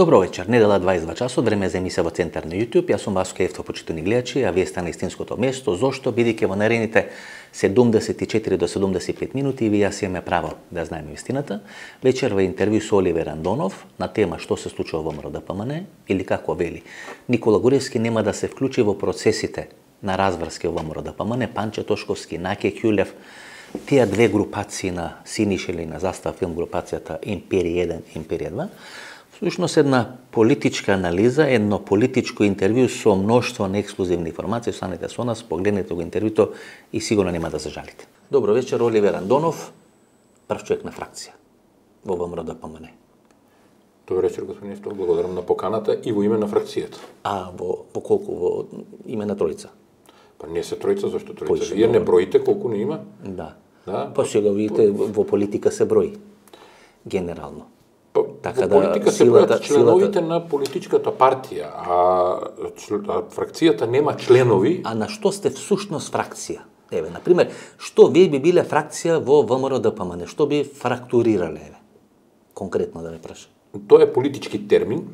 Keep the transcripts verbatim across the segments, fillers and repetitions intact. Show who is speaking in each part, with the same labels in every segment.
Speaker 1: Добро вечер, недела дваесет и два часот, време за емисија во Центар на YouTube. Јас сум Васко Евто, почитувани гледачи, а вие сте на истинското место. Зошто? Бидејќи во наредните седумдесет и четири до седумдесет и пет минути ви јас имаме право да знаеме вистината. Вечер во интервју со Оливер Андонов на тема што се случува во ВМРО-ДПМН или како вели Никола Груевски нема да се вклучи во процесите на разврски во ВМРО-ДПМН, Панче Тошковски, Наке Ќулев, тие две групации на Синишел и на Застава филм групацијата Империја еден, Империја два. Всушност една политичка анализа, едно политичко интервју со мноштво на ексклузивни информации, останете со нас, погледнете го интервјуто и сигурно нема да зажалите. Добро вечер, Оливер Андонов, прв човек на фракција во ВМРО-ДПМН.
Speaker 2: Добро вечер, господин Евто, благодарам на поканата и во име на фракцијата.
Speaker 1: А во, во колку? Во име на тројца?
Speaker 2: Па не се тројца, зашто тројца?
Speaker 1: Поише,
Speaker 2: Вие не
Speaker 1: добро.
Speaker 2: броите колку не има?
Speaker 1: Да.
Speaker 2: Да?
Speaker 1: Па сега видите, во политика се брои, генерално.
Speaker 2: Па,
Speaker 1: Така
Speaker 2: во
Speaker 1: да
Speaker 2: политика се
Speaker 1: силата-
Speaker 2: бројат членовите
Speaker 1: силата-
Speaker 2: на политичката партија, а, чл- а фракцијата нема членови.
Speaker 1: А на што сте всушност фракција? Еве, на пример, што вие би биле фракција во ВМРО-ДПМН? Што би фрактурирале, еве? Конкретно да ве прашам.
Speaker 2: Тоа е политички термин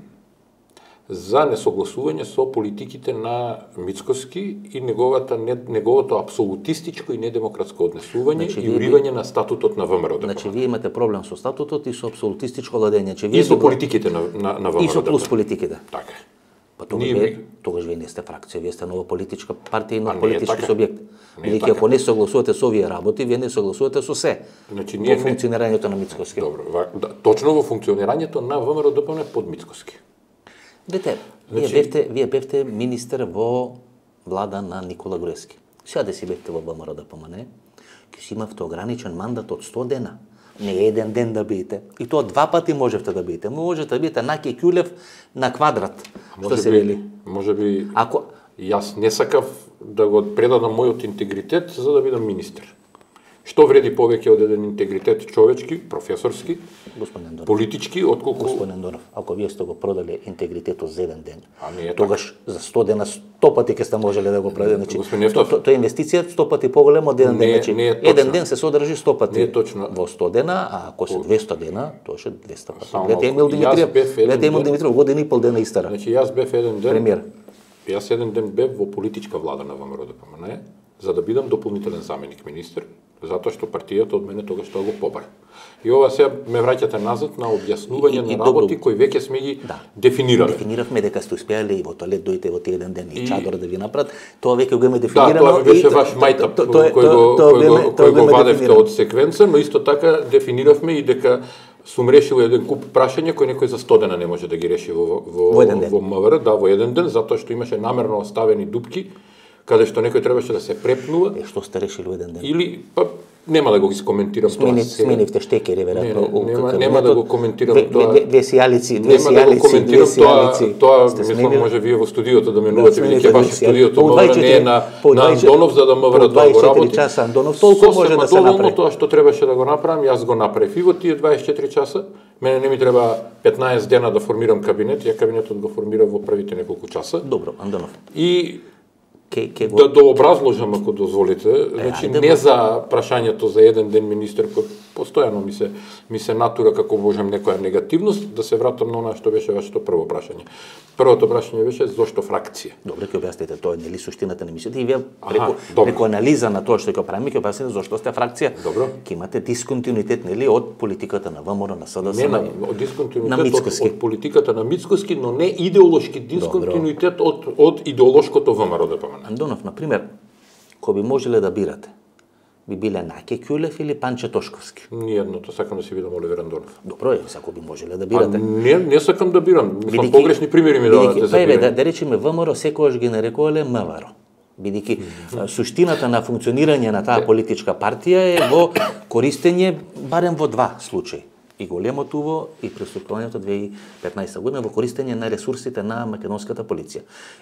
Speaker 2: за несогласување со политиките на Мицкоски и неговата не, неговото апсолутистичко и недемократско однесување
Speaker 1: Значи,
Speaker 2: и
Speaker 1: вие би-
Speaker 2: уривање на статутот на ВМРО-ДПМН.
Speaker 1: Значи, вие имате проблем со статутот и со апсолутистичко владење. Че вие
Speaker 2: И со
Speaker 1: би-
Speaker 2: политиките на, на, на
Speaker 1: И со плюс
Speaker 2: ВМРО-ДПМН.
Speaker 1: политиките.
Speaker 2: Така е.
Speaker 1: Па тогаш
Speaker 2: Ние
Speaker 1: вие,
Speaker 2: би-
Speaker 1: тогаш вие не сте фракција, вие сте нова политичка партија и
Speaker 2: А
Speaker 1: нов
Speaker 2: не е
Speaker 1: политички
Speaker 2: така.
Speaker 1: субјект.
Speaker 2: Не е
Speaker 1: Бидејќи
Speaker 2: така.
Speaker 1: ако не согласувате со овие работи, вие не согласувате со се.
Speaker 2: Значи,
Speaker 1: Во
Speaker 2: ние не-
Speaker 1: функционирањето на Мицкоски.
Speaker 2: Добро, ва- да, точно во функционирањето на ВМРО-ДПМН под Мицкоски.
Speaker 1: Дете,
Speaker 2: Значи-
Speaker 1: вие бевте, вие бевте министер во влада на Никола Груевски. Сега да си бевте во ВМРО-ДПМН, ќе си имавте ограничен мандат од сто дена. Не еден ден да биете. И тоа два пати можевте да биете. Можете да биете Наке Ќулев на квадрат, што
Speaker 2: Може
Speaker 1: се
Speaker 2: би,
Speaker 1: вели.
Speaker 2: може би
Speaker 1: Ако
Speaker 2: јас не сакав да го предадам мојот интегритет за да бидам министер. Што вреди повеќе од еден интегритет човечки, професорски,
Speaker 1: господин Андонов,
Speaker 2: политички, отколку...
Speaker 1: господин Андонов, ако вие сте го продале интегритетот за еден ден,
Speaker 2: А не е
Speaker 1: тогаш за сто дена сто пати ќе сте можеле да го продадете. Значи,
Speaker 2: Господин
Speaker 1: то,
Speaker 2: Ефтов,
Speaker 1: то, тоа е инвестиција сто пати поголема од еден
Speaker 2: Не е-
Speaker 1: ден. Значи,
Speaker 2: не е точно.
Speaker 1: еден ден се содржи сто пати
Speaker 2: Не е точно.
Speaker 1: во сто дена, а ако се двесто дена, тоа ше двесто пати.
Speaker 2: Само
Speaker 1: Гледате
Speaker 2: малку.
Speaker 1: Емил
Speaker 2: Јас
Speaker 1: Димитриев,
Speaker 2: бев еден
Speaker 1: гледате Емил
Speaker 2: ден-
Speaker 1: Димитриев година и пол дена истара.
Speaker 2: Значи, јас бев еден ден...
Speaker 1: Премиер.
Speaker 2: Јас еден ден бев во политичка влада на ВМРО-ДПМН, за да бидам дополнителен заменик министер, затоа што партијата од мене тогаш тоа го побара. И ова сега ме враќате назад на објаснување
Speaker 1: И- и- и
Speaker 2: на работи
Speaker 1: добро.
Speaker 2: кои веќе сме ги
Speaker 1: Да.
Speaker 2: дефинирале.
Speaker 1: Дефиниравме дека сте успеале и во тоалет дојте во тие еден ден и
Speaker 2: И-
Speaker 1: чадор да ви направат. Тоа веќе го имаме
Speaker 2: Да,
Speaker 1: дефинирано.
Speaker 2: тоа беше
Speaker 1: и-
Speaker 2: ваш
Speaker 1: то-
Speaker 2: мајтап
Speaker 1: то- тоа е-
Speaker 2: кој го,
Speaker 1: тоа- тоа
Speaker 2: кој
Speaker 1: имаме-
Speaker 2: го,
Speaker 1: тоа
Speaker 2: кој го
Speaker 1: имаме
Speaker 2: вадевте
Speaker 1: дефинирано.
Speaker 2: од секвенца, но исто така дефиниравме и дека сум решил еден куп прашања кои некој за сто дена не може да ги реши во, во,
Speaker 1: Во еден ден.
Speaker 2: во МВР, да, во еден ден, затоа што имаше намерно оставени дупки, каде што некој требаше да се препнува,
Speaker 1: Е, што сте решили во еден ден?
Speaker 2: или, па, нема да го искоментирам
Speaker 1: Смени,
Speaker 2: тоа сега.
Speaker 1: сменивте штекери, веројатно.
Speaker 2: Не, не,
Speaker 1: у
Speaker 2: нема-
Speaker 1: кабинетот.
Speaker 2: нема да го коментирам
Speaker 1: две,
Speaker 2: тоа.
Speaker 1: Две, две сијалици, две
Speaker 2: Нема да го
Speaker 1: сијалици, две
Speaker 2: коментирам тоа,
Speaker 1: сијалици.
Speaker 2: тоа
Speaker 1: Сте
Speaker 2: мислам
Speaker 1: сменили?
Speaker 2: може вие во студиото да менувате,
Speaker 1: смените
Speaker 2: бидејќи баш
Speaker 1: две сијалици.
Speaker 2: студиото
Speaker 1: По
Speaker 2: МВР не е
Speaker 1: дваесет и четири
Speaker 2: на,
Speaker 1: по
Speaker 2: на
Speaker 1: дваесет
Speaker 2: Андонов за да
Speaker 1: по
Speaker 2: МВР да го
Speaker 1: дваесет и четири
Speaker 2: работи.
Speaker 1: часа Андонов, толку може да се
Speaker 2: Сосема
Speaker 1: направи.
Speaker 2: доволно тоа што требаше да го направам, јас го направив и во тие дваесет и четири часа. Мене не ми треба петнаесет дена да формирам кабинет, ја кабинетот го формирав во првите неколку часа.
Speaker 1: Добро, Андонов.
Speaker 2: И
Speaker 1: Ке, ке го...
Speaker 2: да дообразложам, ако дозволите, значи
Speaker 1: ајде,
Speaker 2: не
Speaker 1: бе.
Speaker 2: за прашањето за еден ден министер, кој постојано ми се ми се натура како можам некоја негативност, да се вратам на она што беше вашето прво прашање. Првото прашање беше зошто фракција?
Speaker 1: Добре, ќе објасните тоа, нели суштината на емисијата и вие
Speaker 2: Аха,
Speaker 1: преку,
Speaker 2: добро.
Speaker 1: преку анализа на тоа што ќе правиме, ќе објасните зошто сте фракција.
Speaker 2: Добро.
Speaker 1: Ќе имате дисконтинуитет нели од политиката на ВМРО, на СДС,
Speaker 2: Не на
Speaker 1: на
Speaker 2: од дисконтинуитет
Speaker 1: на
Speaker 2: од,
Speaker 1: Мицкоски.
Speaker 2: од политиката на Мицкоски, но не идеолошки дисконтинуитет од од идеолошкото ВМРО-ДПМН.
Speaker 1: Андонов, на пример, кој би можеле да бирате, би биле Наке Ќулев или Панче Тошковски?
Speaker 2: Ниедното, сакам да си видам Оливер Андонов.
Speaker 1: Добро е, ако би можеле да
Speaker 2: А
Speaker 1: бирате.
Speaker 2: не, не сакам да бирам. Мислам,
Speaker 1: Бидејќи-
Speaker 2: погрешни примери ми давате
Speaker 1: бидејќи-
Speaker 2: за
Speaker 1: па еве, да,
Speaker 2: бирање.
Speaker 1: да речеме ВМРО секогаш ги нарекувале МВР. Бидејќи а, суштината на функционирање на таа политичка партија е во користење барем во два случаи. И големото уво и преступувањето две илјади и петнаесета година во користење на ресурсите на македонската полиција.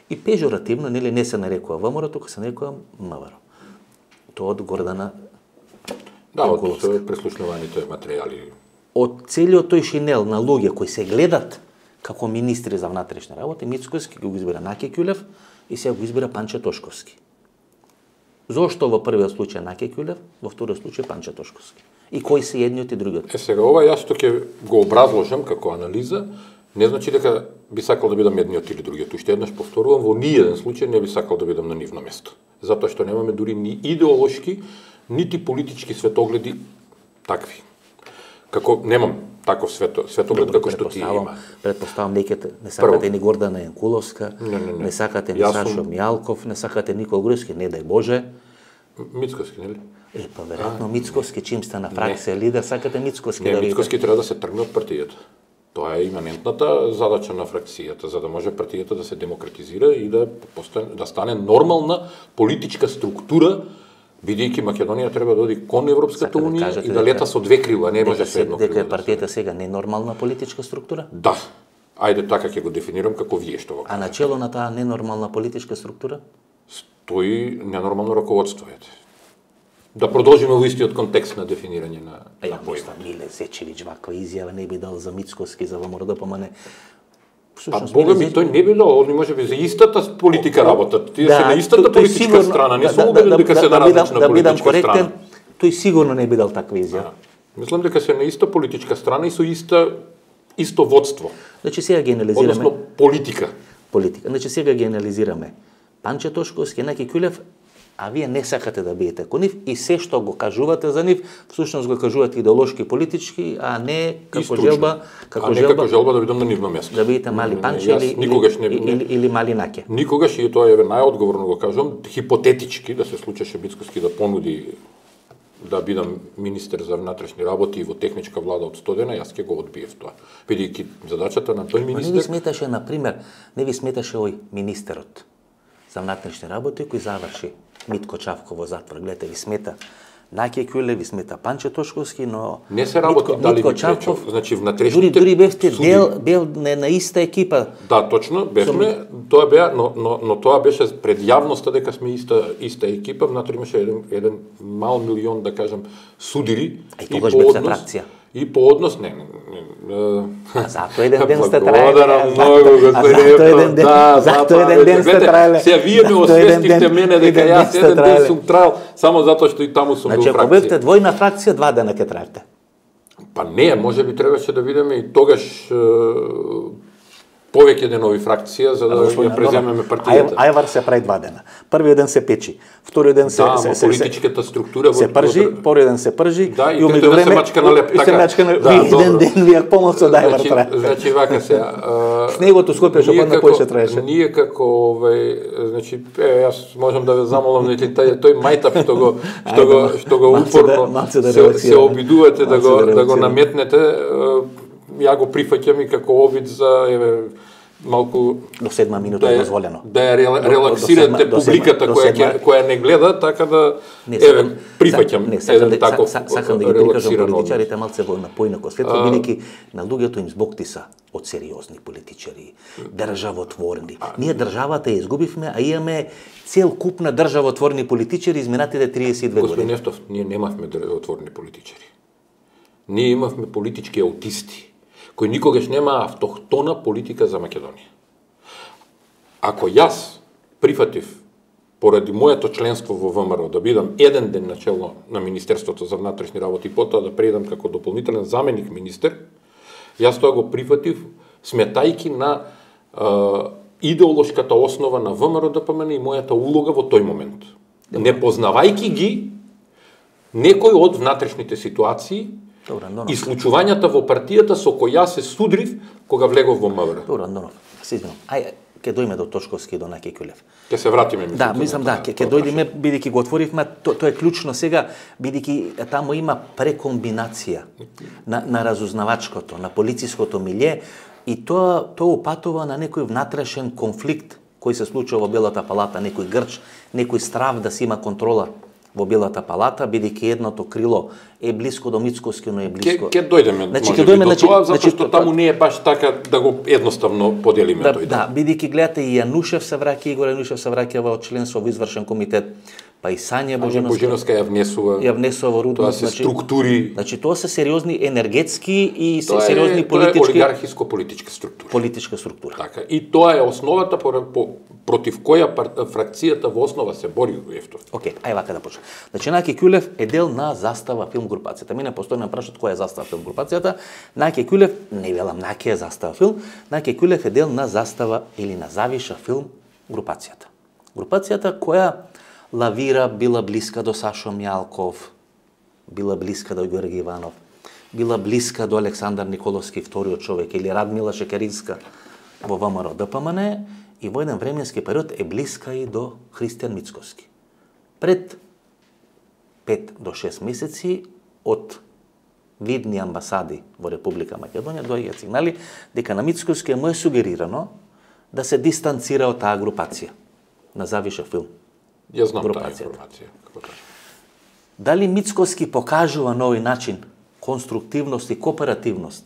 Speaker 1: И пежоративно нели не се нарекува ВМРО, туку се нарекува МВР. Тоа од Гордана
Speaker 2: Да, од
Speaker 1: Jankulovska.
Speaker 2: е, преслушнуваните материјали.
Speaker 1: Од целиот тој шинел на луѓе кои се гледат како министри за внатрешни работи, Мицкоски го избира Наке Ќулев и сега го избира Панче Тошковски. Зошто во првиот случај Наке Ќулев, во вториот случај Панче Тошковски? И кои се едниот и другиот?
Speaker 2: Е сега ова јас што ќе го образложам како анализа, не значи дека би сакал да бидам едниот или другиот. Уште еднаш повторувам, во ниеден случај не би сакал да бидам на нивно место. Затоа што немаме дури ни идеолошки, нити политички светогледи такви. Како немам таков свето, светоглед како што ти има.
Speaker 1: Предпоставам дека не сакате ни Гордана Јанкуловска,
Speaker 2: не, не, не.
Speaker 1: не сакате ни Сашо Мијалков, не сакате Никола Груевски, не дај Боже.
Speaker 2: Мицковски, нели?
Speaker 1: Е, па веројатно Мицковски, чим стана фракција лидер, сакате Мицковски да видите.
Speaker 2: Мицковски треба да се тргне од партијата. Тоа е иманентната задача на фракцијата, за да може партијата да се демократизира и да постане, да стане нормална политичка структура, бидејќи Македонија треба да оди кон Европската унија да и да лета со две крила, не може со едно крило.
Speaker 1: Дека партијата сега не е нормална политичка структура?
Speaker 2: Да. Ајде така ќе го дефинирам како вие што го кажете.
Speaker 1: А начело на таа ненормална политичка структура?
Speaker 2: Стои ненормално раководство, ете. Да продолжиме во истиот контекст на дефинирање на,
Speaker 1: а
Speaker 2: на
Speaker 1: појма. Миле Зечевиќ ваква изјава не би дал за Мицковски, за ВМРО, па не.
Speaker 2: Па Бога ми, тој не би дал, они може би за истата политика работат. Тие
Speaker 1: да,
Speaker 2: се на истата
Speaker 1: тој,
Speaker 2: политичка
Speaker 1: сигурно,
Speaker 2: страна, не
Speaker 1: да,
Speaker 2: сум убеден
Speaker 1: да,
Speaker 2: дека
Speaker 1: да,
Speaker 2: се на
Speaker 1: да,
Speaker 2: различна
Speaker 1: да,
Speaker 2: политичка
Speaker 1: коректен,
Speaker 2: страна.
Speaker 1: Тој сигурно не би дал таква изјава.
Speaker 2: Мислам дека се на иста политичка страна и со иста исто водство.
Speaker 1: Значи сега ги анализираме.
Speaker 2: Односно политика.
Speaker 1: Политика. Значи сега ги анализираме. Панче Тошковски, Јанаки Ќулев, а вие не сакате да биете кон нив и се што го кажувате за нив, всушност го кажувате идеолошки, политички, а не како желба, како
Speaker 2: а не
Speaker 1: желба,
Speaker 2: како желба да бидам на нивно место.
Speaker 1: Да бидете мали Панче или,
Speaker 2: никогаш не,
Speaker 1: или, или, или мали Наке.
Speaker 2: Никогаш, и тоа е најодговорно го кажувам, хипотетички да се случеше Мицковски да понуди да бидам министер за внатрешни работи во техничка влада од сто дена, јас ќе го одбиев тоа. Бидејќи задачата на тој министер...
Speaker 1: Не ви сметаше, например, не ви сметаше ој министерот за внатрешни работи кој заврши Митко Чавко во затвор. Гледате, ви смета Наке Ќулев, ви смета Панче Тошковски, но
Speaker 2: не се работи
Speaker 1: Митко,
Speaker 2: дали
Speaker 1: Митко
Speaker 2: ми
Speaker 1: Чавков,
Speaker 2: пречо. Значи внатрешните
Speaker 1: дури дури бевте
Speaker 2: суди...
Speaker 1: дел бел не на иста екипа.
Speaker 2: Да, точно, бевме, тоа беа, но, но, но тоа беше пред јавноста дека сме иста иста екипа, внатре имаше еден еден мал милион, да кажам, судири
Speaker 1: и тогаш бевте фракција.
Speaker 2: И по однос не, не, не
Speaker 1: а зато еден ден сте траеле.
Speaker 2: Благодарам многу,
Speaker 1: господин Епто.
Speaker 2: Да,
Speaker 1: зато еден ден сте траеле.
Speaker 2: Сега вие ме освестихте мене дека јас еден ден сум траел само затоа што и таму сум бил фракција.
Speaker 1: Значи ако бевте двојна фракција, два дена ќе траевте.
Speaker 2: Па не, може би требаше да видиме и тогаш повеќе денови фракција за да ја преземеме партијата.
Speaker 1: Ајвар се прави два дена. Првиот ден се печи, вториот ден се
Speaker 2: да,
Speaker 1: се се
Speaker 2: политичката структура
Speaker 1: се пржи, вториот ден се пржи
Speaker 2: да, и меѓу време се мачка на леп,
Speaker 1: така. Се мачка на еден ден ви ја помоцо да Ајвар трае.
Speaker 2: Значи вака се.
Speaker 1: Снегото Скопје што падна поише траеше.
Speaker 2: Ние како овај, значи јас можам да ве замолам нели тај тој мајтап што го што го што го упорно се обидувате да го да го наметнете, ја го прифаќам и како обид за еве малку
Speaker 1: до седма минута е дозволено.
Speaker 2: Да ја релаксирате публиката која ќе која не гледа, така да еве прифаќам еден таков
Speaker 1: сакам да ги прикажам политичарите малце во напојнако светло, бидејќи на луѓето им збоктиса од сериозни политичари, државотворни. Ние државата ја изгубивме, а имаме цел куп на државотворни политичари изминатите триесет и две години.
Speaker 2: Господин Нефтов, ние немавме државотворни политичари. Ние имавме политички аутисти кој никогаш нема автохтона политика за Македонија. Ако јас прифатив, поради моето членство во ВМРО, да бидам еден ден начелно на Министерството за внатрешни работи и потоа да преидам како дополнителен заменик министер, јас тоа го прифатив сметајки на е, идеолошката основа на ВМРО-ДПМН и мојата улога во тој момент. Не познавајки ги некој од внатрешните ситуации
Speaker 1: Добра, Андонов.
Speaker 2: И случувањата во партијата со која се судрив кога влегов во МВР.
Speaker 1: Добро, Андонов, се извинувам. Ај, ќе дојме до Тошковски и до Наке Ќулев.
Speaker 2: Ќе се вратиме.
Speaker 1: Да, мислам да, ќе ќе дојдеме бидејќи го отворивме, то, тоа е клучно сега, бидејќи таму има прекомбинација на, на разузнавачкото, на полициското милје и тоа тоа упатува на некој внатрешен конфликт кој се случува во Белата палата, некој грч, некој страв да си има контрола во Белата палата, бидејќи едното крило е блиско до Мицковски, но е блиско.
Speaker 2: Ќе дојдеме,
Speaker 1: значи,
Speaker 2: може
Speaker 1: дојме,
Speaker 2: би, до
Speaker 1: значи,
Speaker 2: тоа, затоа
Speaker 1: значи,
Speaker 2: што таму не е баш така да го едноставно поделиме
Speaker 1: да,
Speaker 2: тој.
Speaker 1: Да, бидејќи гледате и Јанушев се враќа, Игор Јанушев се враќа во членство во извршен комитет, па и Сања
Speaker 2: Божиновска, Божиновска ја внесува.
Speaker 1: Ја внесува во рудник.
Speaker 2: Тоа се значи, структури.
Speaker 1: Значи тоа се сериозни енергетски и
Speaker 2: тоа
Speaker 1: сериозни
Speaker 2: е,
Speaker 1: политички.
Speaker 2: Тоа е олигархиско-политичка структура.
Speaker 1: Политичка структура.
Speaker 2: Така. И тоа е основата по, по, против која пар, фракцијата во основа се бори во Ефтов.
Speaker 1: Океј, ај вака да почнем. Значи Наки Ќулев е дел на Застава филм групацијата. Мене постојано ме прашаат која е Застава филм групацијата. Наки Ќулев, не велам Наки е Застава филм, Наки Ќулев е дел на Застава или на Завиша филм групацијата. Групацијата која лавира, била блиска до Сашо Мјалков, била блиска до Георги Иванов, била блиска до Александар Николовски, вториот човек, или Радмила Шекеринска во ВМРО ДПМН, и во еден временски период е блиска и до Христијан Мицковски. Пред пет до шест месеци од видни амбасади во Република Македонија доаѓаат сигнали дека на Мицковски му е сугерирано да се дистанцира од таа групација на Завиша филм.
Speaker 2: Ја знам таа информација.
Speaker 1: Дали Мицковски покажува на овој начин конструктивност и кооперативност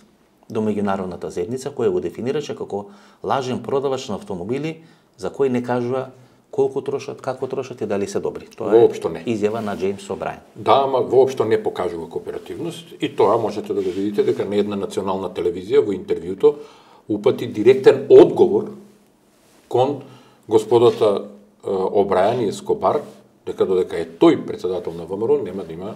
Speaker 1: до меѓународната заедница, која го дефинираше како лажен продавач на автомобили за кои не кажува колку трошат, како трошат и дали се добри. Тоа
Speaker 2: воопшто не.
Speaker 1: Е изјава на Джеймс О'Брајен.
Speaker 2: Да, ама воопшто не покажува кооперативност и тоа можете да го видите дека на една национална телевизија во интервјуто упати директен одговор кон господата О'Брајен и Ескобар, дека додека е тој председател на ВМРО нема да има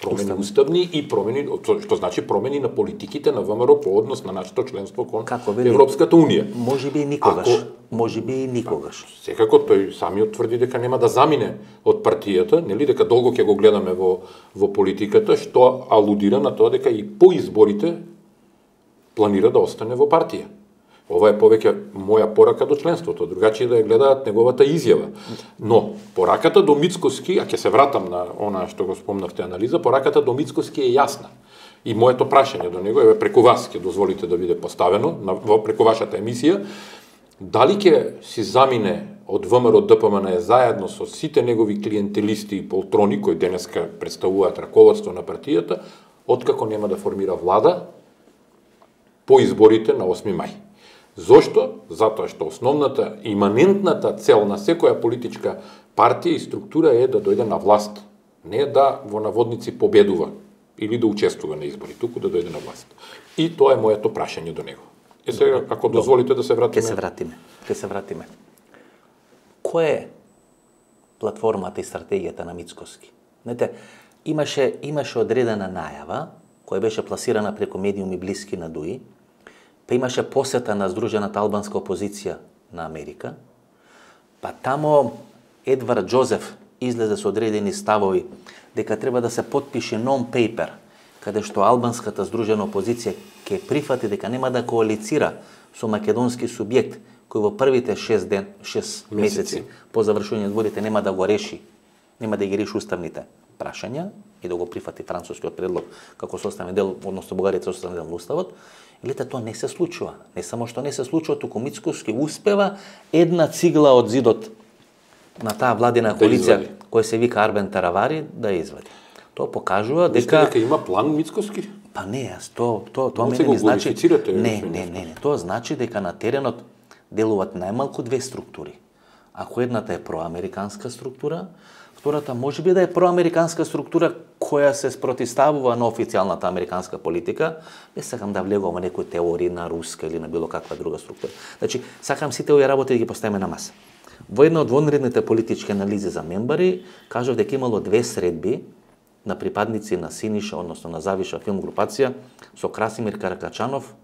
Speaker 2: промени уставни, уставни и промени, што значи промени на политиките на ВМРО по однос на нашето членство кон Европската унија.
Speaker 1: Може би и никогаш. Ако, може би и никогаш.
Speaker 2: Секако тој самиот тврди дека нема да замине од партијата, нели, дека долго ќе го гледаме во во политиката, што алудира на тоа дека и по изборите планира да остане во партија. Ова е повеќе моја порака до членството, другачи да ја гледаат неговата изјава. Но пораката до Мицковски, а ќе се вратам на она што го спомнавте анализа, пораката до Мицковски е јасна. И моето прашање до него е преку вас ќе дозволите да биде поставено на во преку вашата емисија, дали ќе си замине од ВМРО ДПМН заедно со сите негови клиентелисти и полтрони кои денеска представуваат раководство на партијата, откако нема да формира влада по изборите на осми мај. Зошто? Затоа што основната, иманентната цел на секоја политичка партија и структура е да дојде на власт, не да во наводници победува или да учествува на избори, туку да дојде на власт. И тоа е моето прашање до него. Е сега, ако дозволите да се вратиме...
Speaker 1: Ке се вратиме. Ке се вратиме. Која е платформата и стратегијата на Мицковски? Знаете, имаше, имаше одредена најава, која беше пласирана преку медиуми блиски на Дуи, па имаше посета на Здружената албанска опозиција на Америка, па тамо Едвард Джозеф излезе со одредени ставови дека треба да се подпише нон-пейпер, каде што албанската здружена опозиција ќе прифати дека нема да коалицира со македонски субјект кој во првите шест ден, шест месеци по завршување изборите нема да го реши, нема да ги реши уставните прашања и да го прифати францускиот предлог како составен дел, односно Бугарија составен дел во уставот. Лете, тоа не се случува. Не само што не се случува, туку Мицковски успева една цигла од зидот на таа владина коалиција, да која се вика Арбен Таравари, да ја извади. Тоа покажува дека...
Speaker 2: дека има план Мицковски?
Speaker 1: Па не, јас, тоа то, то, мене ми значи... Не, не, не, не, тоа значи дека на теренот делуваат најмалку две структури. Ако едната е проамериканска структура, втората може би да е проамериканска структура која се спротивставува на официјалната американска политика, не сакам да влегувам во некои теории на руска или на било каква друга структура. Значи, сакам сите овие работи да ги поставиме на маса. Во една од вонредните политички анализи за мембари, кажав дека имало две средби на припадници на Синиша, односно на Завиша филм групација со Красимир Каракачанов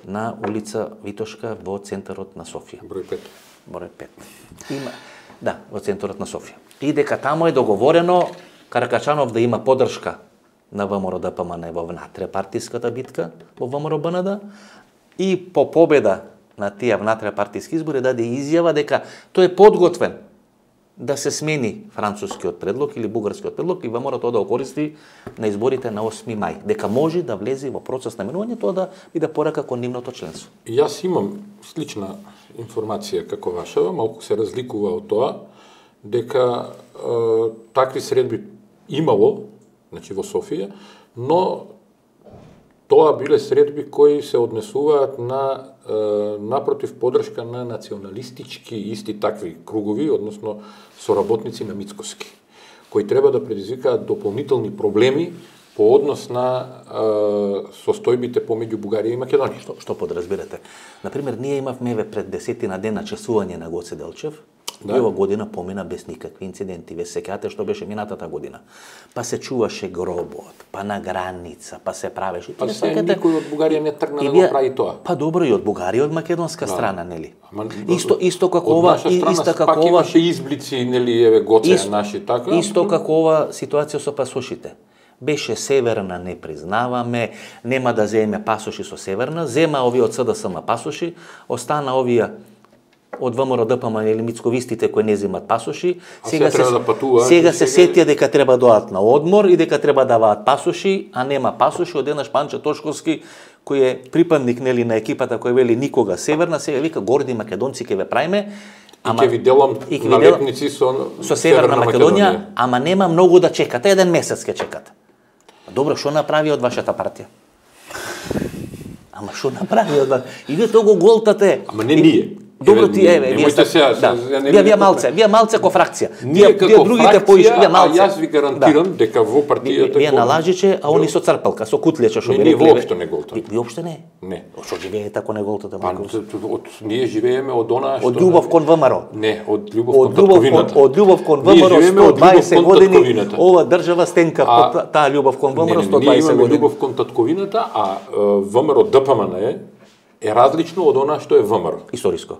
Speaker 1: на улица Витошка во центарот на Софија.
Speaker 2: Број пет.
Speaker 1: Број пет. Има, да, во центарот на Софија. И дека тамо е договорено Каракачанов да има поддршка на ВМРО ДПМН во внатре-партиската битка во ВМРО БНД и по победа на тие внатре-партиски избори даде изјава дека тој е подготвен да се смени францускиот предлог или бугарскиот предлог и ВМРО тоа да го користи на изборите на осми мај, дека може да влезе во процес на менување, тоа да биде порака кон нивното членство.
Speaker 2: Јас имам слична информација како вашава, малку се разликува од тоа, дека е, такви средби имало, значи во Софија, но тоа биле средби кои се однесуваат на е, напротив подршка на националистички исти такви кругови, односно соработници на Мицкоски, кои треба да предизвикаат дополнителни проблеми по однос на е, состојбите помеѓу Бугарија и Македонија.
Speaker 1: Што, што подразбирате? Например, ние имавме еве пред десетина дена чесување на Гоце Делчев. Да. И ова година помина без никакви инциденти. Ве сеќавате што беше минатата година. Па се чуваше гробот, па на граница, па се правеше.
Speaker 2: Па се никој од Бугарија не тргна да го прави тоа.
Speaker 1: Па добро, и од Бугарија, од македонска да. страна, нели?
Speaker 2: Ама,
Speaker 1: исто исто како ова, исто како ова
Speaker 2: имаше изблици, нели, еве Гоце исто, наши така.
Speaker 1: Исто како ова ситуација со пасошите. Беше Северна не признаваме, нема да земе пасоши со Северна, зема овие од СДСМ пасоши, остана овие од ВМРО ДПМН или мицковистите кои не земат пасоши, сега се
Speaker 2: да патува,
Speaker 1: сега се сетија дека треба да одат на одмор и дека треба да даваат пасоши, а нема пасоши. Одеднаш Панче Тошковски, кој е припадник нели на екипата кој вели никога Северна, сега вика горди македонци ќе ве праиме.
Speaker 2: Ама ќе ви делам налепници со
Speaker 1: со Северна Македонија, ама нема многу да чекате, еден месец ќе чекате. Добро, што направи од вашата партија? Ама што направи од вас? И вие тоа го голтате.
Speaker 2: Ама не ние.
Speaker 1: Добро ти еве, вие сте
Speaker 2: сега,
Speaker 1: да.
Speaker 2: не
Speaker 1: вие, вие малце, вие малце ко фракција.
Speaker 2: Ние како другите поиш, вие малце. А јас ви гарантирам да. дека во партијата
Speaker 1: вие налажиче, а они со црпалка, со кутлече што
Speaker 2: би рекли. Ние воопшто не голтаме.
Speaker 1: Ви воопшто не?
Speaker 2: Не.
Speaker 1: Што живеете ако не голтате?
Speaker 2: Па, од ние живееме од она што
Speaker 1: од љубов кон ВМРО.
Speaker 2: Не, од љубов кон татковината.
Speaker 1: Од љубов кон ВМРО сто дваесет години. Ова држава стенка под таа ljubов кон ВМРО сто дваесет години.
Speaker 2: Ние љубов кон татковината, а ВМРО ДПМН е е различно од она што е ВМРО.
Speaker 1: Историско.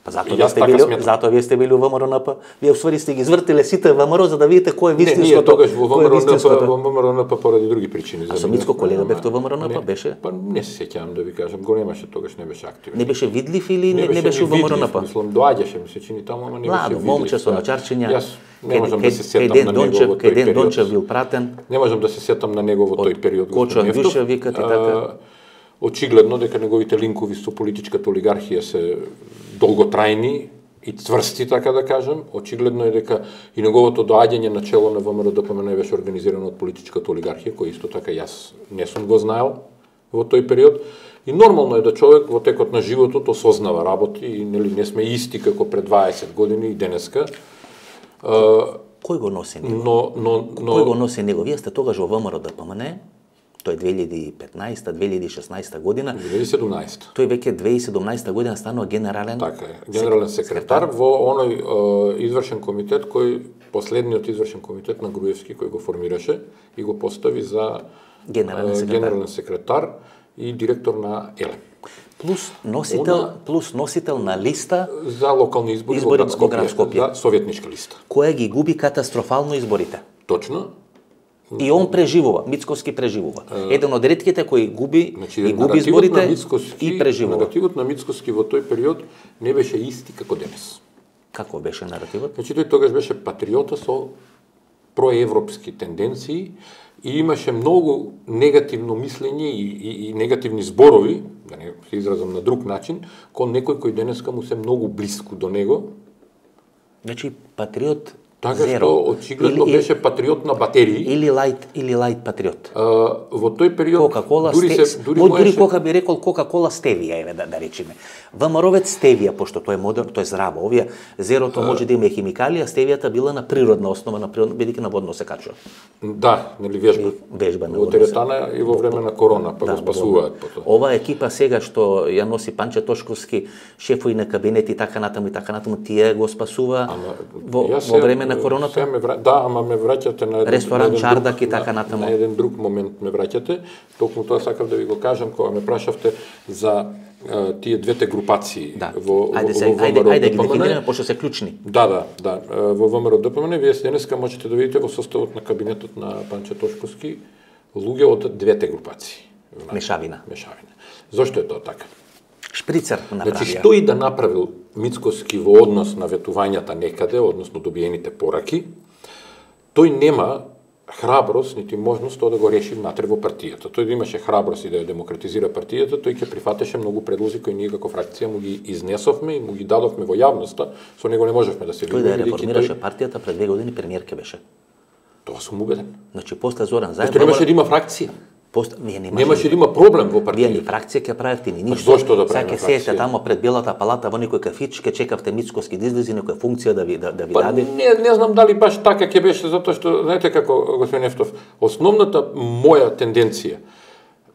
Speaker 1: Па затоа вие сте били, затоа вие сте били во ВМРО-НП. Вие усвари сте ги извртиле сите ВМРО за да видите кој е вистинското.
Speaker 2: Не, ние тогаш во ВМРО-НП, во ВМРО-НП поради други причини.
Speaker 1: А со Мицко колега бевте во ВМРО-НП беше?
Speaker 2: Па не се сеќавам да ви кажам, го немаше тогаш, не беше активен.
Speaker 1: Не беше видлив или не, не беше во ВМРО-НП?
Speaker 2: Мислам, доаѓаше ми се чини таму, ама не беше видлив.
Speaker 1: Младо момче со начарчиња.
Speaker 2: Јас не можам да се сетам на негово тој период.
Speaker 1: Кај Ден Дончев бил пратен.
Speaker 2: Не можам да се сетам на негово тој период.
Speaker 1: Кочо Андјуша викате така.
Speaker 2: Очигледно дека неговите линкови со политичката олигархија се долготрајни и цврсти, така да кажем. Очигледно е дека и неговото доаѓање на чело на ВМРО ДПМН беше организирано од политичката олигархија, кој исто така јас не сум го знаел во тој период. И нормално е да човек во текот на животот осознава работи и нели не сме исти како пред дваесет години и денеска.
Speaker 1: Кој го носи него?
Speaker 2: Но, но, но...
Speaker 1: Кој го носи него? Вие сте тогаш во ВМРО ДПМН, тој е две илјади и петнаесета две илјади и шеснаесета година.
Speaker 2: две илјади и седумнаесета.
Speaker 1: Тој веќе две илјади и седумнаесета година станува генерален
Speaker 2: така е, генерален секретар, секретар во оној е, извршен комитет кој последниот извршен комитет на Груевски кој го формираше и го постави за
Speaker 1: генерален
Speaker 2: е,
Speaker 1: секретар,
Speaker 2: генерален секретар и директор на ЕЛЕМ.
Speaker 1: Плюс носител, Она, плюс носител на листа
Speaker 2: за локални избори,
Speaker 1: избори
Speaker 2: во град
Speaker 1: Скопје,
Speaker 2: за советничка листа.
Speaker 1: Која ги губи катастрофално изборите.
Speaker 2: Точно.
Speaker 1: И он преживува, Мицкоски преживува. Uh, Еден од ретките кои губи
Speaker 2: значи,
Speaker 1: и губи изборите и преживува.
Speaker 2: Наративот на Мицкоски во тој период не беше исти како денес.
Speaker 1: Како беше наративот?
Speaker 2: Значи тој тогаш беше патриота со проевропски тенденции и имаше многу негативно мислење и, и, и негативни зборови, да не се изразам на друг начин, кон некој кој денеска му се многу блиску до него.
Speaker 1: Значи патриот
Speaker 2: така
Speaker 1: зеро.
Speaker 2: Што очигледно
Speaker 1: или,
Speaker 2: беше патриот на батерии.
Speaker 1: Или лайт, или лайт патриот.
Speaker 2: А, во тој период
Speaker 1: Кока-кола,
Speaker 2: дури
Speaker 1: сте...
Speaker 2: се дури,
Speaker 1: дури
Speaker 2: можеше...
Speaker 1: кока би рекол Кока-кола стевија, еве да, да речеме. ВМРО-вец стевија, пошто тоа е модерно, тоа е здраво. Овие зерото а... може да има химикали, а стевијата била на природна основа, на природна, бидејќи на водно се качува.
Speaker 2: Да, нели вежба.
Speaker 1: Вежба на
Speaker 2: во теретана и во време на корона, па да, го спасуваат потоа.
Speaker 1: Ова екипа сега што ја носи Панче Тошковски, шефови на кабинети и така натаму и така натаму, тие го спасува ама, во, во време на короната.
Speaker 2: Вра... Да, ама ме враќате на еден,
Speaker 1: ресторан
Speaker 2: на еден
Speaker 1: Чардак
Speaker 2: друг,
Speaker 1: и така натаму.
Speaker 2: На, на еден друг момент ме враќате. Токму тоа сакав да ви го кажам кога ме прашавте за а, тие двете групации
Speaker 1: да.
Speaker 2: во
Speaker 1: ајде,
Speaker 2: во,
Speaker 1: се,
Speaker 2: во
Speaker 1: ајде, ајде ги
Speaker 2: ДПМН.
Speaker 1: дефинираме пошто се клучни.
Speaker 2: Да, да, да. Во ВМРО ДПМН вие денеска можете да видите во составот на кабинетот на Панче Тошковски луѓе од двете групации.
Speaker 1: Мешавина.
Speaker 2: Мешавина. Зошто е тоа така?
Speaker 1: Шприцер направија.
Speaker 2: Значи, што и да направил Мицкоски во однос на ветувањата некаде, односно добиените пораки, тој нема храброст, нити можност тоа да го реши внатре во партијата. Тој да имаше храброст и да ја демократизира партијата, тој ќе прифатеше многу предлози кои ние како фракција му ги изнесовме и му ги дадовме во јавноста, со него не можевме да се
Speaker 1: видиме. Тој да реформираше тој... партијата пред две години премиерке беше.
Speaker 2: Тоа сум убеден.
Speaker 1: Значи после Зоран Заев.
Speaker 2: Тој требаше да има фракција.
Speaker 1: Пост... Ние
Speaker 2: немаше да има проблем во партијата.
Speaker 1: Вие ни фракција ќе правите, ни ништо.
Speaker 2: Зошто да правиме
Speaker 1: фракција? Сега ќе седите тамо пред Белата палата во некој кафич, ќе чекавте Мицкоски да излезе некоја функција да ви да, да ви
Speaker 2: па,
Speaker 1: даде.
Speaker 2: Не, не знам дали баш така ќе беше, затоа што знаете како господин Ефтов, основната моја тенденција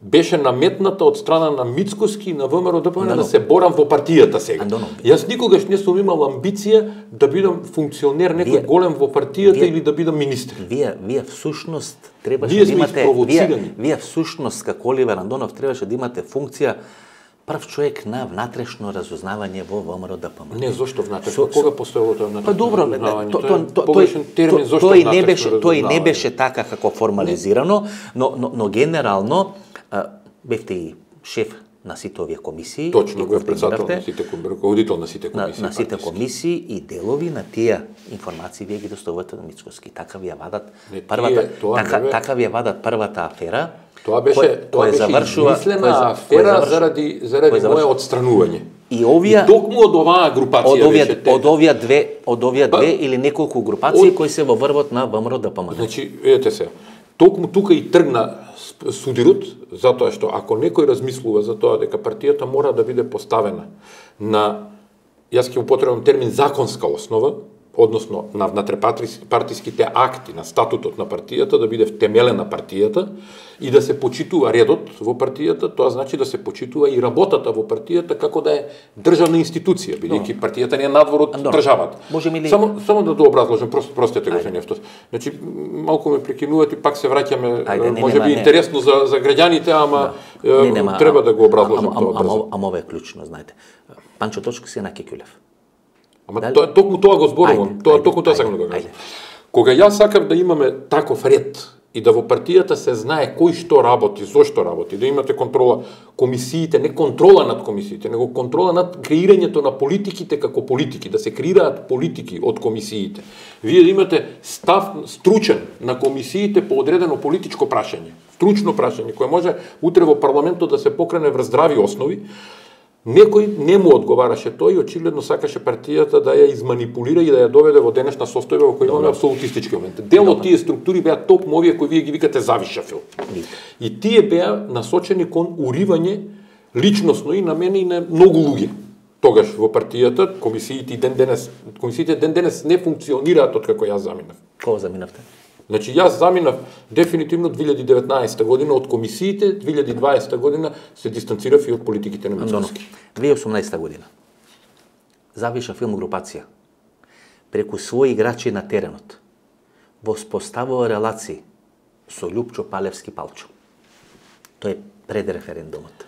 Speaker 2: беше наметната од страна на Мицкоски и на ВМРО ДПМН да се борам во партијата сега.
Speaker 1: Андоно.
Speaker 2: Јас никогаш не сум имал амбиција да бидам функционер некој
Speaker 1: Вие,
Speaker 2: голем во партијата
Speaker 1: вие,
Speaker 2: или да бидам министер.
Speaker 1: Вие вие всушност требаше
Speaker 2: Ние
Speaker 1: да
Speaker 2: сме
Speaker 1: имате
Speaker 2: испровоцирани.
Speaker 1: вие, вие всушност како Оливер Андонов требаше да имате функција прв човек на внатрешно разузнавање во ВМРО ДПМН.
Speaker 2: Не, зошто внатрешно?
Speaker 1: Со,
Speaker 2: Кога постоело тоа внатрешно?
Speaker 1: Па добро,
Speaker 2: разузнавање?
Speaker 1: то, то, то,
Speaker 2: погрешен термин, зошто
Speaker 1: тој не
Speaker 2: внатрешно
Speaker 1: беше тој не
Speaker 2: разузнавање?
Speaker 1: беше така како формализирано, но но, но генерално а, бевте и шеф на сите овие комисии.
Speaker 2: Точно, го е председател на сите комисии, руководител на сите комисии.
Speaker 1: На, на сите комисии и делови на тие информации вие ги доставувате на Мицкоски. Така ви ја вадат
Speaker 2: не,
Speaker 1: првата
Speaker 2: тие, тоа
Speaker 1: така,
Speaker 2: бе...
Speaker 1: така ви ја вадат првата афера.
Speaker 2: Тоа беше
Speaker 1: кој,
Speaker 2: тоа
Speaker 1: кој
Speaker 2: беше
Speaker 1: завршува,
Speaker 2: измислена
Speaker 1: кој,
Speaker 2: афера
Speaker 1: кој завршува,
Speaker 2: заради заради мое отстранување.
Speaker 1: И овие
Speaker 2: и токму од оваа групација
Speaker 1: од овие
Speaker 2: беше те...
Speaker 1: од овие две од овие
Speaker 2: па,
Speaker 1: две или неколку групации
Speaker 2: од...
Speaker 1: кои се во врвот на ВМРО ДПМН.
Speaker 2: Значи, видете се, токму тука и тргна судирот, затоа што ако некој размислува за тоа дека партијата мора да биде поставена на, јас ќе употребам термин законска основа, односно на внатрепартиските акти, на статутот на партијата, да биде втемелена партијата и да се почитува редот во партијата, тоа значи да се почитува и работата во партијата како да е државна институција, бидејќи партијата не е надвор од
Speaker 1: Андор,
Speaker 2: државата.
Speaker 1: Ли...
Speaker 2: Само само да дообразложам, просто простете господин Ефтов. Значи малку ме прекинувате и пак се враќаме, можеби интересно за за граѓаните, ама да. не, нема, треба да го образложам тоа брзо.
Speaker 1: Ама ова е клучно, знаете. Панчо Точко си на Кекјулев.
Speaker 2: Ама Дали? тоа токму тоа го зборувам, тоа токму тоа сакам да го кажам. Кога јас сакам да имаме таков ред и да во партијата се знае кој што работи, зошто работи, да имате контрола, комисиите, не контрола над комисиите, него контрола над креирањето на политиките како политики, да се креираат политики од комисиите. Вие да имате став стручен на комисиите по одредено политичко прашање, стручно прашање кое може утре во парламентот да се покрене врз здрави основи. Некој не му одговараше тој и очигледно сакаше партијата да ја изманипулира и да ја доведе во денешна состојба во која имаме апсолутистички моменти. Дел од тие структури беа токму овие кои вие ги викате завишафил. И тие беа насочени кон уривање личносно и на мене и на многу луѓе. Тогаш во партијата комисиите ден денес комисиите ден денес не функционираат од како јас заминав.
Speaker 1: Кога заминавте?
Speaker 2: Значи, јас заминав дефинитивно две илјади и деветнаесета година од комисиите, две илјади и дваесета година се дистанцирав и од политиките на Мицкоски.
Speaker 1: две илјади и осумнаесета година. Завиша филм групација. Преку своји играчи на теренот. Воспоставува релации со Љупчо Палевски Палчо. Тој е пред референдумот.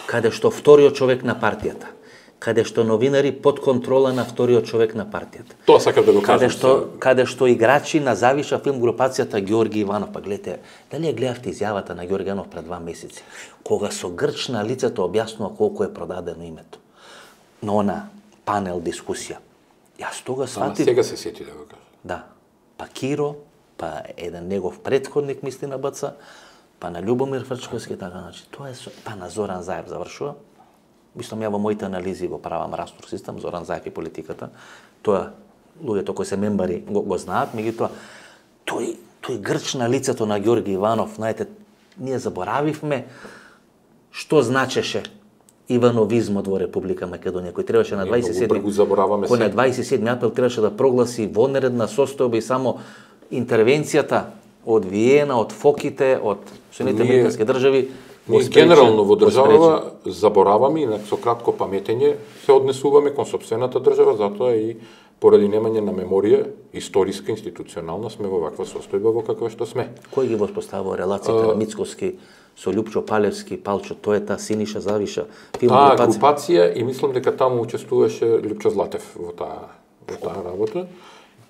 Speaker 1: Каде што вториот човек на партијата, каде што новинари под контрола на вториот човек на партијата.
Speaker 2: Тоа сакав да го кажам.
Speaker 1: Каде што, каде што играчи на Завиша филм групацијата Ѓорги Иванов, па гледате, дали ја гледавте изјавата на Ѓорги Иванов пред два месеци, кога со грч на лицето објаснува колку е продадено името. На она панел дискусија. Јас тога сватив...
Speaker 2: Сега се сети да го кажам.
Speaker 1: Да. Па Киро, па еден негов претходник мисли на БЦ, па на Љубомир Фрчковски, така значи. Тоа е со... па на Зоран Заев завршува. Мислам, ја во моите анализи го правам растор систем, Зоран Заев и политиката. Тоа, луѓето кои се мембари го, го знаат, меѓутоа, тој, тој грч на лицето на Ѓорги Иванов, знаете, ние заборавивме што значеше ивановизмот во Република Македонија, кој требаше на дваесет и седми кој на дваесет и седми април требаше да прогласи вонредна состојба и само интервенцијата од Виена, од Фоките, од Соединетите американски држави.
Speaker 2: Ние генерално во држава забораваме и со кратко паметење се однесуваме кон сопствената држава, затоа и поради немање на меморија, историска, институционална, сме во ваква состојба во каква што сме.
Speaker 1: Кој ги воспоставува релацијата на Мицкоски со Љупчо Палевски, Палчо, тоа е та Синиша Завиша, филм
Speaker 2: групација? Таа групација и мислам дека таму учествуваше Љупчо Златев во таа во таа работа.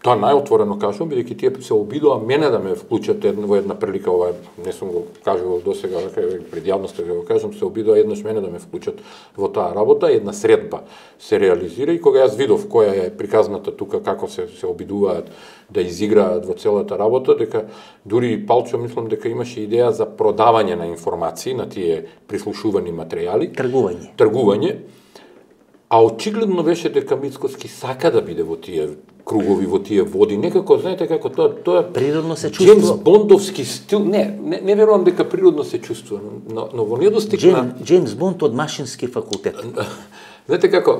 Speaker 2: Тоа најотворено кажувам, бидејќи тие се обидоа мене да ме вклучат во една прилика, ова не сум го кажувал досега, пред јавноста да го кажам, се обидоа еднаш мене да ме вклучат во таа работа, една средба се реализира и кога јас видов која е приказната тука, како се се обидуваат да изиграат во целата работа, дека дури и Палчо мислам дека имаше идеја за продавање на информации на тие прислушувани материјали,
Speaker 1: тргување.
Speaker 2: Тргување. А очигледно беше дека Мицкоски сака да биде во тие кругови, во тие води. Некако, знаете како тоа, тоа
Speaker 1: природно се чувствува.
Speaker 2: Джеймс Бондовски стил. Не, не, не верувам дека природно се чувствува, но, но во недостиг
Speaker 1: Джейм,
Speaker 2: на
Speaker 1: Джеймс Бонд од машински факултет.
Speaker 2: Знаете како,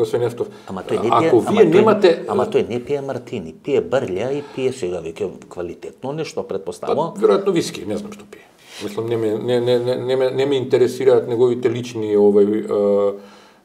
Speaker 2: господин Ефтов,
Speaker 1: ама тој не пие,
Speaker 2: ако вие
Speaker 1: ама
Speaker 2: немате...
Speaker 1: Тој, ама тој не пие мартини, пие брља и пие сега веќе квалитетно нешто, предпоставувам.
Speaker 2: Па, веројатно виски, не знам што пие. Мислам, не ме, не, не, не, не, ме, не ме интересираат неговите лични овој, е,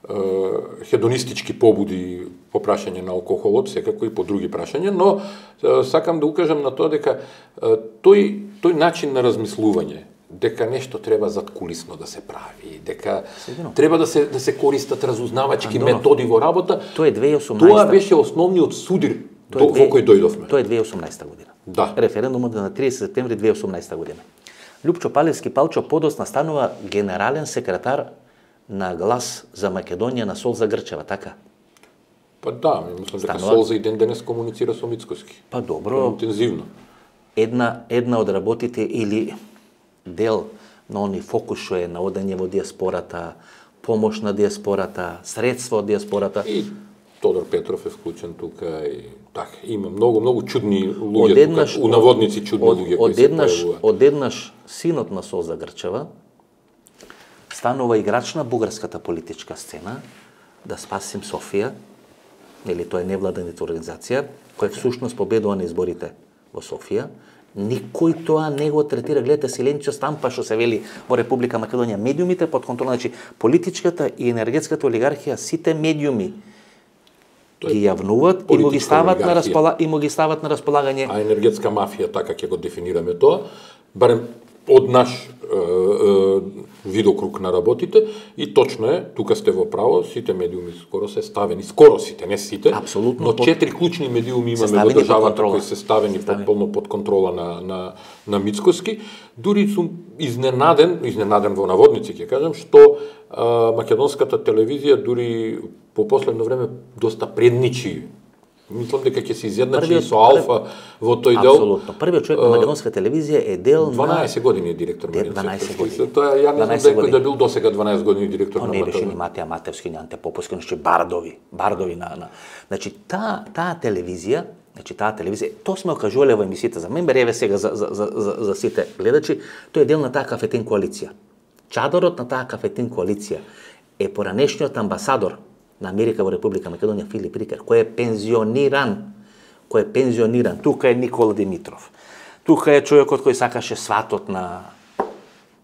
Speaker 2: е, хедонистички побуди по прашање на алкохолот, секако и по други прашања, но е, сакам да укажам на тоа дека е, тој, тој начин на размислување, дека нешто треба задкулисно да се прави, дека Сигурно. треба да се да се користат разузнавачки Андонов. методи во работа.
Speaker 1: Тоа е две илјади и осумнаесета.
Speaker 2: Тоа беше основниот судир до,
Speaker 1: две...
Speaker 2: во кој дојдовме.
Speaker 1: Тоа е две илјади и осумнаесета година.
Speaker 2: Да.
Speaker 1: Референдумот на тридесети септември две илјади и осумнаесета година. Лјупчо Палевски Палчо подосна станува генерален секретар на Глас за Македонија на Солза Грчева, така?
Speaker 2: Па да, мислам дека
Speaker 1: Станува...
Speaker 2: Солза и ден денес комуницира со Мицкоски.
Speaker 1: Па добро.
Speaker 2: Интензивно.
Speaker 1: Една една од работите или дел на они фокус што е на одење во диаспората, помош на диаспората, средства од диаспората.
Speaker 2: И Тодор Петров е вклучен тука и така, има многу многу чудни луѓе
Speaker 1: одеднаш,
Speaker 2: тука, у наводници чудни
Speaker 1: од,
Speaker 2: луѓе кои
Speaker 1: одеднаш,
Speaker 2: се појавуваат.
Speaker 1: Одеднаш синот на Солза Грчева станува играч на бугарската политичка сцена да спасим Софија, или тоа е невладената организација, која всушност победува на изборите во Софија. Никој тоа не го третира, гледате Силенчо Стампа што се вели во Република Македонија, медиумите под контрола, значи политичката и енергетската олигархија, сите медиуми ги јавнуваат и му ги стават на распола... и му ги стават на располагање.
Speaker 2: А енергетска мафија, така ќе го дефинираме тоа, барем од наш е, е, видокруг на работите, и точно е, тука сте во право, сите медиуми скоро се ставени, скоро сите, не сите,
Speaker 1: Апсолутно,
Speaker 2: но
Speaker 1: под...
Speaker 2: четири клучни медиуми имаме во државата кои се ставени потполно под контрола на, на, на Мицкоски. Дури сум изненаден, изненаден во наводници, ќе кажам, што а, македонската телевизија дури по последно време доста предничи. Мислам дека ќе се изедначи со Алфа во тој дел.
Speaker 1: Апсолутно. Првиот човек на македонска телевизија е дел на
Speaker 2: дванаесет години е директор на
Speaker 1: дванаесет години.
Speaker 2: Тоа ја не знам дека да бил досега дванаесет години директор на
Speaker 1: не беше ни Матеја Матевски, ни Анте Поповски, значи бардови, бардови на на. Значи таа таа телевизија, значи таа телевизија, тоа сме окажувале во емисиите за мен, еве сега за за за за, за сите гледачи, тој е дел на таа кафетин коалиција. Чадорот на таа кафетин коалиција е поранешниот амбасадор на Америка во Република Македонија Филип Рикер, кој е пензиониран, кој е пензиониран. Тука е Никола Димитров. Тука е човекот кој сакаше сватот на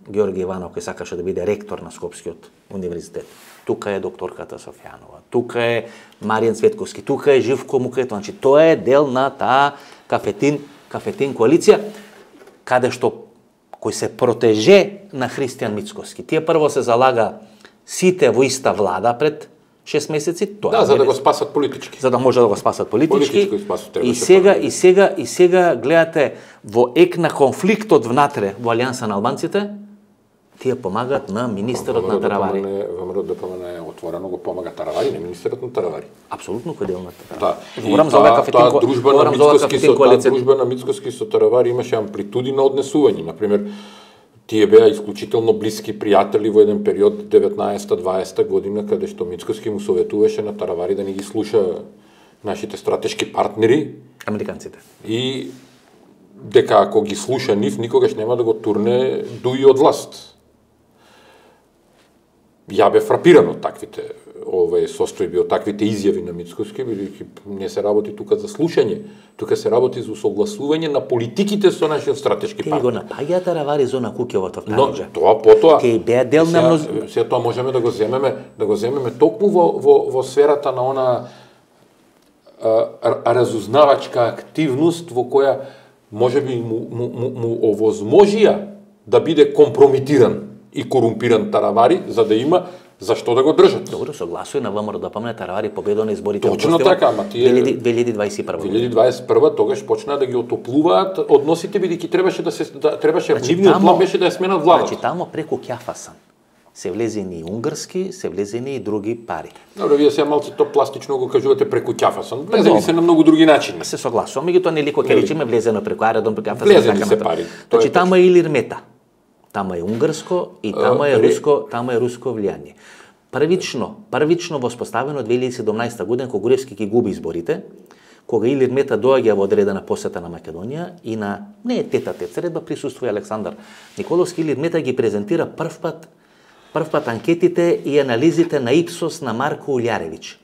Speaker 1: Георги Иванов, кој сакаше да биде ректор на Скопскиот универзитет. Тука е докторката Софјанова. Тука е Маријан Цветковски. Тука е Живко Мукрето. Значи тоа е дел на таа кафетин кафетин коалиција каде што кој се протеже на Христијан Мицкоски. Тие прво се залага сите во иста влада пред шест месеци, тоа.
Speaker 2: Да, за да го спасат политички.
Speaker 1: За да може да го спасат политички.
Speaker 2: Политички спасат,
Speaker 1: и сега и сега и сега гледате во ек на конфликтот внатре во Алијанса на албанците, тие помагаат на министерот на Таравари.
Speaker 2: ВМРО ДПМН отворено го помага Таравари, не министерот на Таравари.
Speaker 1: Апсолутно кој дел на Таравари.
Speaker 2: Да.
Speaker 1: Говорам за оваа кафетин
Speaker 2: таа дружба на Мицкоски со
Speaker 1: коалиција.
Speaker 2: таа дружба на Мицкоски со Таравари имаше амплитуди на однесување. Например, тие беа исклучително блиски пријатели во еден период деветнаесета-дваесета година, каде што Мицкоски му советуваше на Таравари да не ги слуша нашите стратешки партнери,
Speaker 1: американците.
Speaker 2: И дека ако ги слуша нив, никогаш нема да го турне дуи од власт. Ја бе фрапиран од таквите овие состојби, од таквите изјави на Мицкоски, бидејќи не се работи тука за слушање, тука се работи за согласување на политиките со нашиот стратешки партнер.
Speaker 1: Тие го напаѓаат Таравари зона Куќевото в
Speaker 2: Но
Speaker 1: Тараџа.
Speaker 2: тоа потоа
Speaker 1: Ке беа дел на мноз...
Speaker 2: Се тоа можеме да го земеме, да го земеме токму во во во сферата на она а, разузнавачка активност во која можеби му, му, му, му овозможија да биде компрометиран и корумпиран Таравари, за да има зашто да го држат.
Speaker 1: Добро, согласува на ВМРО да помне Таравари победува на изборите.
Speaker 2: Точно така, ама тие
Speaker 1: две илјади дваесет и прва.
Speaker 2: две илјади дваесет и прва тогаш почна да ги отоплуваат односите, бидејќи требаше да се да, требаше
Speaker 1: Значи,
Speaker 2: нивниот
Speaker 1: тамо-
Speaker 2: план беше да ја сменат владата.
Speaker 1: Значи тамо преку Ќафасан се влезени и унгарски, се влезени и други пари.
Speaker 2: Добро, вие сега малку то пластично го кажувате преку Ќафасан.
Speaker 1: Добро.
Speaker 2: Влезени се на многу други начини.
Speaker 1: Се согласувам, меѓутоа нели кој ќе
Speaker 2: Нели?
Speaker 1: речеме влезено преку аеродром, преку Ќафасан.
Speaker 2: Влезени
Speaker 1: така
Speaker 2: се
Speaker 1: натаму.
Speaker 2: пари, тоа е
Speaker 1: Значи тамо е Илирмета. Тамо е унгарско и тамо е
Speaker 2: ре-
Speaker 1: руско, тамо е руско влијание. првично, првично воспоставено две илјади и седумнаесета година, кога Груевски ги губи изборите, кога Илир Мета доаѓа во одредена посета на Македонија и на не е тета-тет средба присуствува Александар Николовски. Илир Мета ги презентира прв пат прв пат анкетите и анализите на Ипсос на Марко Улјаревиќ.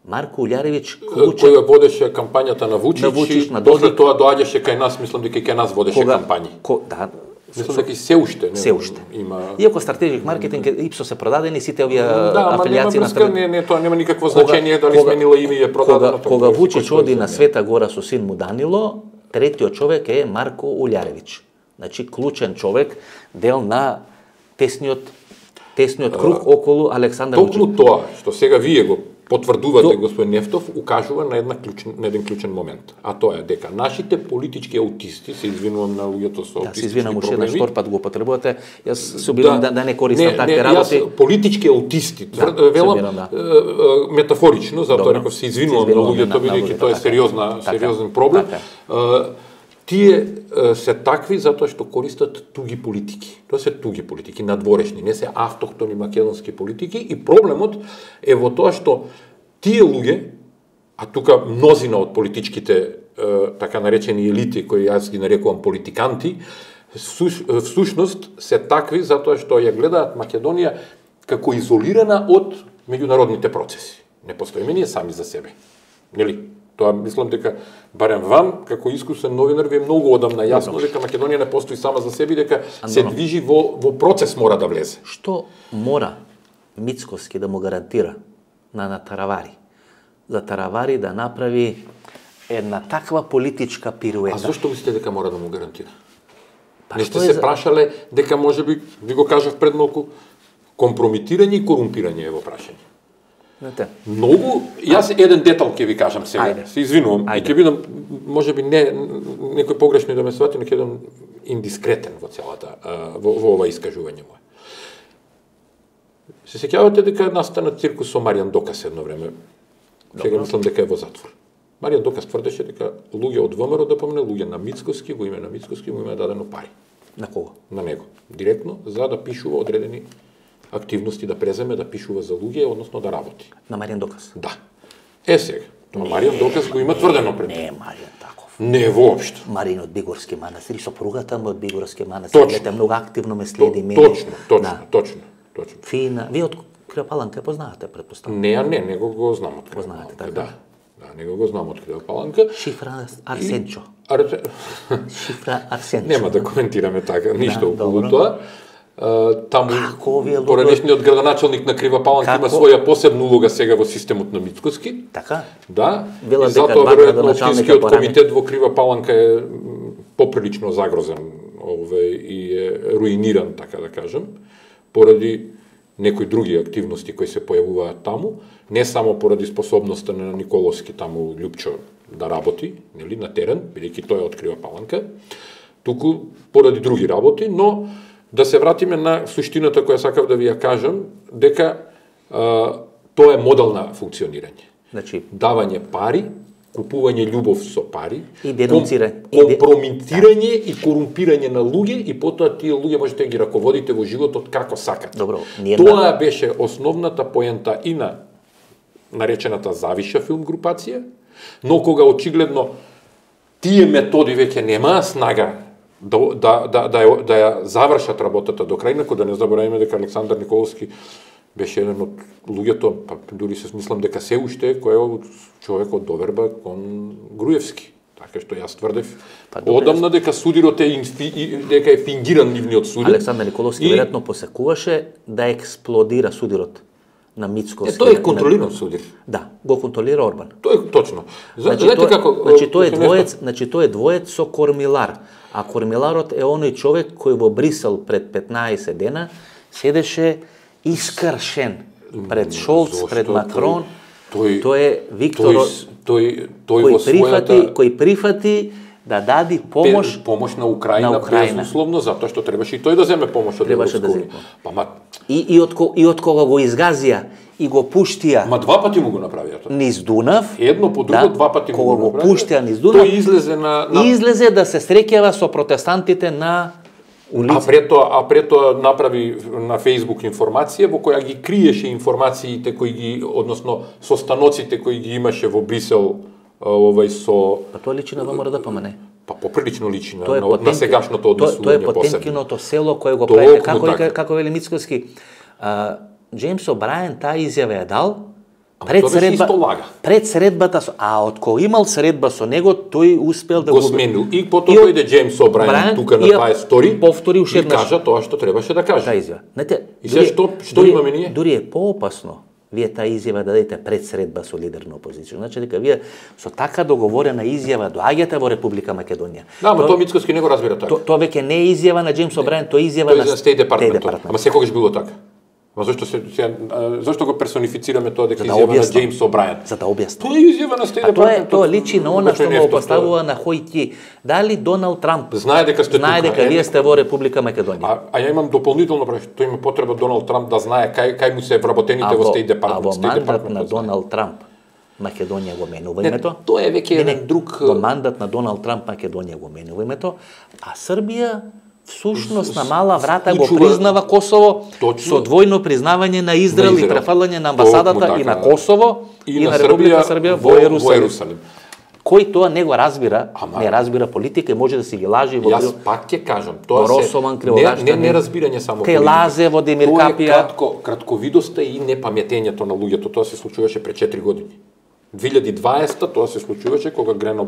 Speaker 1: Марко Улјаревиќ клучен...
Speaker 2: кој водеше кампањата на Вучич,
Speaker 1: на Вучич,
Speaker 2: и
Speaker 1: на
Speaker 2: после тоа доаѓаше кај нас, мислам дека кај нас водеше
Speaker 1: кога,
Speaker 2: кампањи.
Speaker 1: Ко, да,
Speaker 2: мислам дека и се уште, не,
Speaker 1: се уште.
Speaker 2: Има...
Speaker 1: Иако стратегик маркетинг Ипсос се продадени сите овие
Speaker 2: да,
Speaker 1: афилијации
Speaker 2: на трг... не, не, тоа нема никакво значење дали сменила име и е продадено.
Speaker 1: Кога, кога Вучич оди на Света Гора со син му Данило, третиот човек е Марко Улјаревиќ. Значи клучен човек, дел на тесниот тесниот круг околу Александар Вучич.
Speaker 2: Токму тоа што сега вие го потврдувате,
Speaker 1: То...
Speaker 2: господин Нефтов, укажува на една клучен, на еден клучен момент. А тоа е дека нашите политички аутисти, се извинувам на луѓето со
Speaker 1: да,
Speaker 2: аутистички
Speaker 1: се извинам уште еднаш, втор пат го потребувате. Јас се обидам да, да, да не користам такви работи.
Speaker 2: Јас политички аутисти,
Speaker 1: да,
Speaker 2: велам
Speaker 1: обидам, да.
Speaker 2: метафорично, затоа реков се извинувам на луѓето, бидејќи тоа е сериозна,
Speaker 1: така,
Speaker 2: сериозен проблем. Така. Тие се такви затоа што користат туги политики. Тоа се туги политики, надворешни, не се автохтони македонски политики, и проблемот е во тоа што тие луѓе, а тука мнозина од политичките така наречени елити, кои јас ги нарекувам политиканти, всушност се такви затоа што ја гледаат Македонија како изолирана од меѓународните процеси. Не постоиме ние сами за себе. Нели? Тоа мислам дека барем вам како искусен новинар ви е многу одамна јасно дека Македонија не постои сама за себе, дека се движи во во процес мора да влезе.
Speaker 1: Што мора Мицкоски да му гарантира на на Таравари? За Таравари да направи една таква политичка пируета.
Speaker 2: А зошто мислите дека мора да му гарантира?
Speaker 1: Па
Speaker 2: не сте се за... прашале дека можеби, ви го кажав пред малку, компрометирање и корумпирање е во прашање. Многу, јас еден детал ќе ви кажам сега, Ајде. Се извинувам, Ајде. И ќе бидам, можеби не, некој погрешно да ме свати, но ќе бидам индискретен во целата, во, во ова искажување мое. Се сеќавате дека настана циркус со Маријан Докас едно време, сега мислам дека е во затвор. Маријан Докас тврдеше дека луѓе од ВМРО, да помне, луѓе на Мицкоски, во име на Мицкоски му има дадено пари.
Speaker 1: На кого? На
Speaker 2: него. Директно, за да пишува одредени активности, да преземе, да пишува за луѓе, односно да работи.
Speaker 1: На Маријан Докас?
Speaker 2: Да. Е сега, тоа Маријан Докас го има тврдено пред.
Speaker 1: Не, Маријан таков.
Speaker 2: Не воопшто.
Speaker 1: Маријан од Бигорски манастир, сопругата му од Бигорски манастир, гледате, многу активно ме следи мене.
Speaker 2: Точно, точно, да. точно, точно.
Speaker 1: Фина. Вие од Крива Паланка познавате, претпоставам?
Speaker 2: Не, не, него го знам од Крива
Speaker 1: Паланка. Така?
Speaker 2: Да. Да, него го знам од Крива Паланка.
Speaker 1: Шифра Арсенчо.
Speaker 2: И... Ар...
Speaker 1: Шифра Арсенчо.
Speaker 2: Нема да коментираме така, ништо
Speaker 1: да,
Speaker 2: околу тоа. Таму
Speaker 1: Како
Speaker 2: поранешниот градоначалник на Крива Паланка Како? Има своја посебна улога сега во системот на Мицкоски.
Speaker 1: Така?
Speaker 2: Да.
Speaker 1: Била
Speaker 2: и затоа веројатно општинскиот комитет во Крива Паланка е поприлично загрозен, ове и е руиниран, така да кажем, поради некои други активности кои се појавуваат таму, не само поради способноста на Николовски таму Љупчо да работи, нели, на терен, бидејќи тој од Крива Паланка, туку поради други работи, но да се вратиме на суштината која сакав да ви ја кажам, дека а, тоа е модел на функционирање.
Speaker 1: Значи,
Speaker 2: давање пари, купување љубов со пари,
Speaker 1: и денонцирање,
Speaker 2: компрометирање и корумпирање на луѓе, и потоа тие луѓе можете да ги раководите во животот како сакате.
Speaker 1: Добро,
Speaker 2: тоа беше основната поента и на наречената Завиша филм групација, но кога очигледно тие методи веќе немаа снага да да да да ја, да ја завршат работата до крај, кога да не забораваме дека Александар Николовски беше еден од луѓето, па дури се смислам дека се уште кој е човек од доверба кон Груевски. Така што јас тврдев па, одамна дека судирот е инфи, дека е фингиран нивниот судир.
Speaker 1: Александар Николовски и... веројатно посекуваше да експлодира судирот на Мицкоски.
Speaker 2: Е, тој е контролиран судир.
Speaker 1: Да, го контролира Орбан.
Speaker 2: Тој е точно.
Speaker 1: Значи, тој, како, значи тој е двоец, значи тој е двоец со Кормилар. А Кормиларот е оној човек кој во Брисел пред петнаесет дена седеше искршен пред Шолц, Зошто? пред Макрон.
Speaker 2: Тој,
Speaker 1: тој е Виктор
Speaker 2: тој, тој, тој
Speaker 1: кој
Speaker 2: во
Speaker 1: прифати,
Speaker 2: својата...
Speaker 1: кој прифати да дади помош
Speaker 2: помош на Украина,
Speaker 1: на Украина.
Speaker 2: безусловно, затоа што требаше и тој да земе помош од
Speaker 1: Европска
Speaker 2: униија.
Speaker 1: Да
Speaker 2: па ма
Speaker 1: и и од и од кога го изгазија и го пуштија.
Speaker 2: Ма два пати му го направија тоа.
Speaker 1: Низ Дунав.
Speaker 2: Едно по друго,
Speaker 1: да,
Speaker 2: два пати му
Speaker 1: го пуштија низ Дунав.
Speaker 2: Тој излезе на, на...
Speaker 1: излезе да се среќава со протестантите на
Speaker 2: А пред тоа, а пред тоа направи на Facebook информација во која ги криеше информациите кои ги, односно состаноците кои ги имаше во Брисел, овај со...
Speaker 1: Па тоа личи на ВМРО-ДПМН.
Speaker 2: Па поприлично личи на,
Speaker 1: на,
Speaker 2: на сегашното однесување.
Speaker 1: Тоа е Потемкиното село кое го правите, како вика, како вели Мицкоски. Джеймс О'Брајен таа изјава ја дал пред средба, пред средбата со, а од кога имал средба со него, тој успел да
Speaker 2: го сменил. И потоа дојде Джеймс О'Брајен тука на дваесет втори
Speaker 1: повтори уште еднаш.
Speaker 2: И кажа тоа што требаше да каже.
Speaker 1: Таа изјава. Знаете,
Speaker 2: и се што што
Speaker 1: дури,
Speaker 2: имаме ние?
Speaker 1: Дури е поопасно вие таа изјава да дадете пред средба со лидер на опозиција. Значи дека вие со така договорена изјава доаѓате во Република Македонија.
Speaker 2: Да, ама тоа Мицкоски не го разбира така.
Speaker 1: Тоа веќе не е изјава на Джеймс О'Брајен, тоа е изјава на
Speaker 2: State Department. Ама секогаш било така. Ма зашто се, се зашто го персонифицираме тоа дека изјава на Джеймс О'Брајен?
Speaker 1: За да објаснам.
Speaker 2: Тоа е изјава на State Department.
Speaker 1: Тоа тоа личи на она што го поставува на Хојти. Дали Доналд Трамп
Speaker 2: знае дека сте
Speaker 1: знае
Speaker 2: тука,
Speaker 1: дека вие сте во Република Македонија.
Speaker 2: А, а ја имам дополнително прашање, тој има потреба Доналд Трамп да знае кај кај му се вработените во State Department.
Speaker 1: А во мандат на Доналд Трамп Македонија го менува името.
Speaker 2: Тоа е веќе еден друг
Speaker 1: во мандат на Доналд Трамп Македонија го менува името, а Србија всушност на мала врата го признава Косово со двојно признавање на Израел и префалање на амбасадата и на Косово и на Република Србија во Ерусалим. Кој тоа не го разбира, не разбира политика и може да си ги лажи во...
Speaker 2: Јас пак ќе кажам, тоа
Speaker 1: Росоман,
Speaker 2: се не, не, не разбирање само
Speaker 1: политика. Кај Лазе, во Демир Капија.
Speaker 2: Тоа е кратко, кратковидоста и непаметењето на луѓето, тоа се случуваше пред четири години. две илјади и дваесета тоа се случуваше кога Грено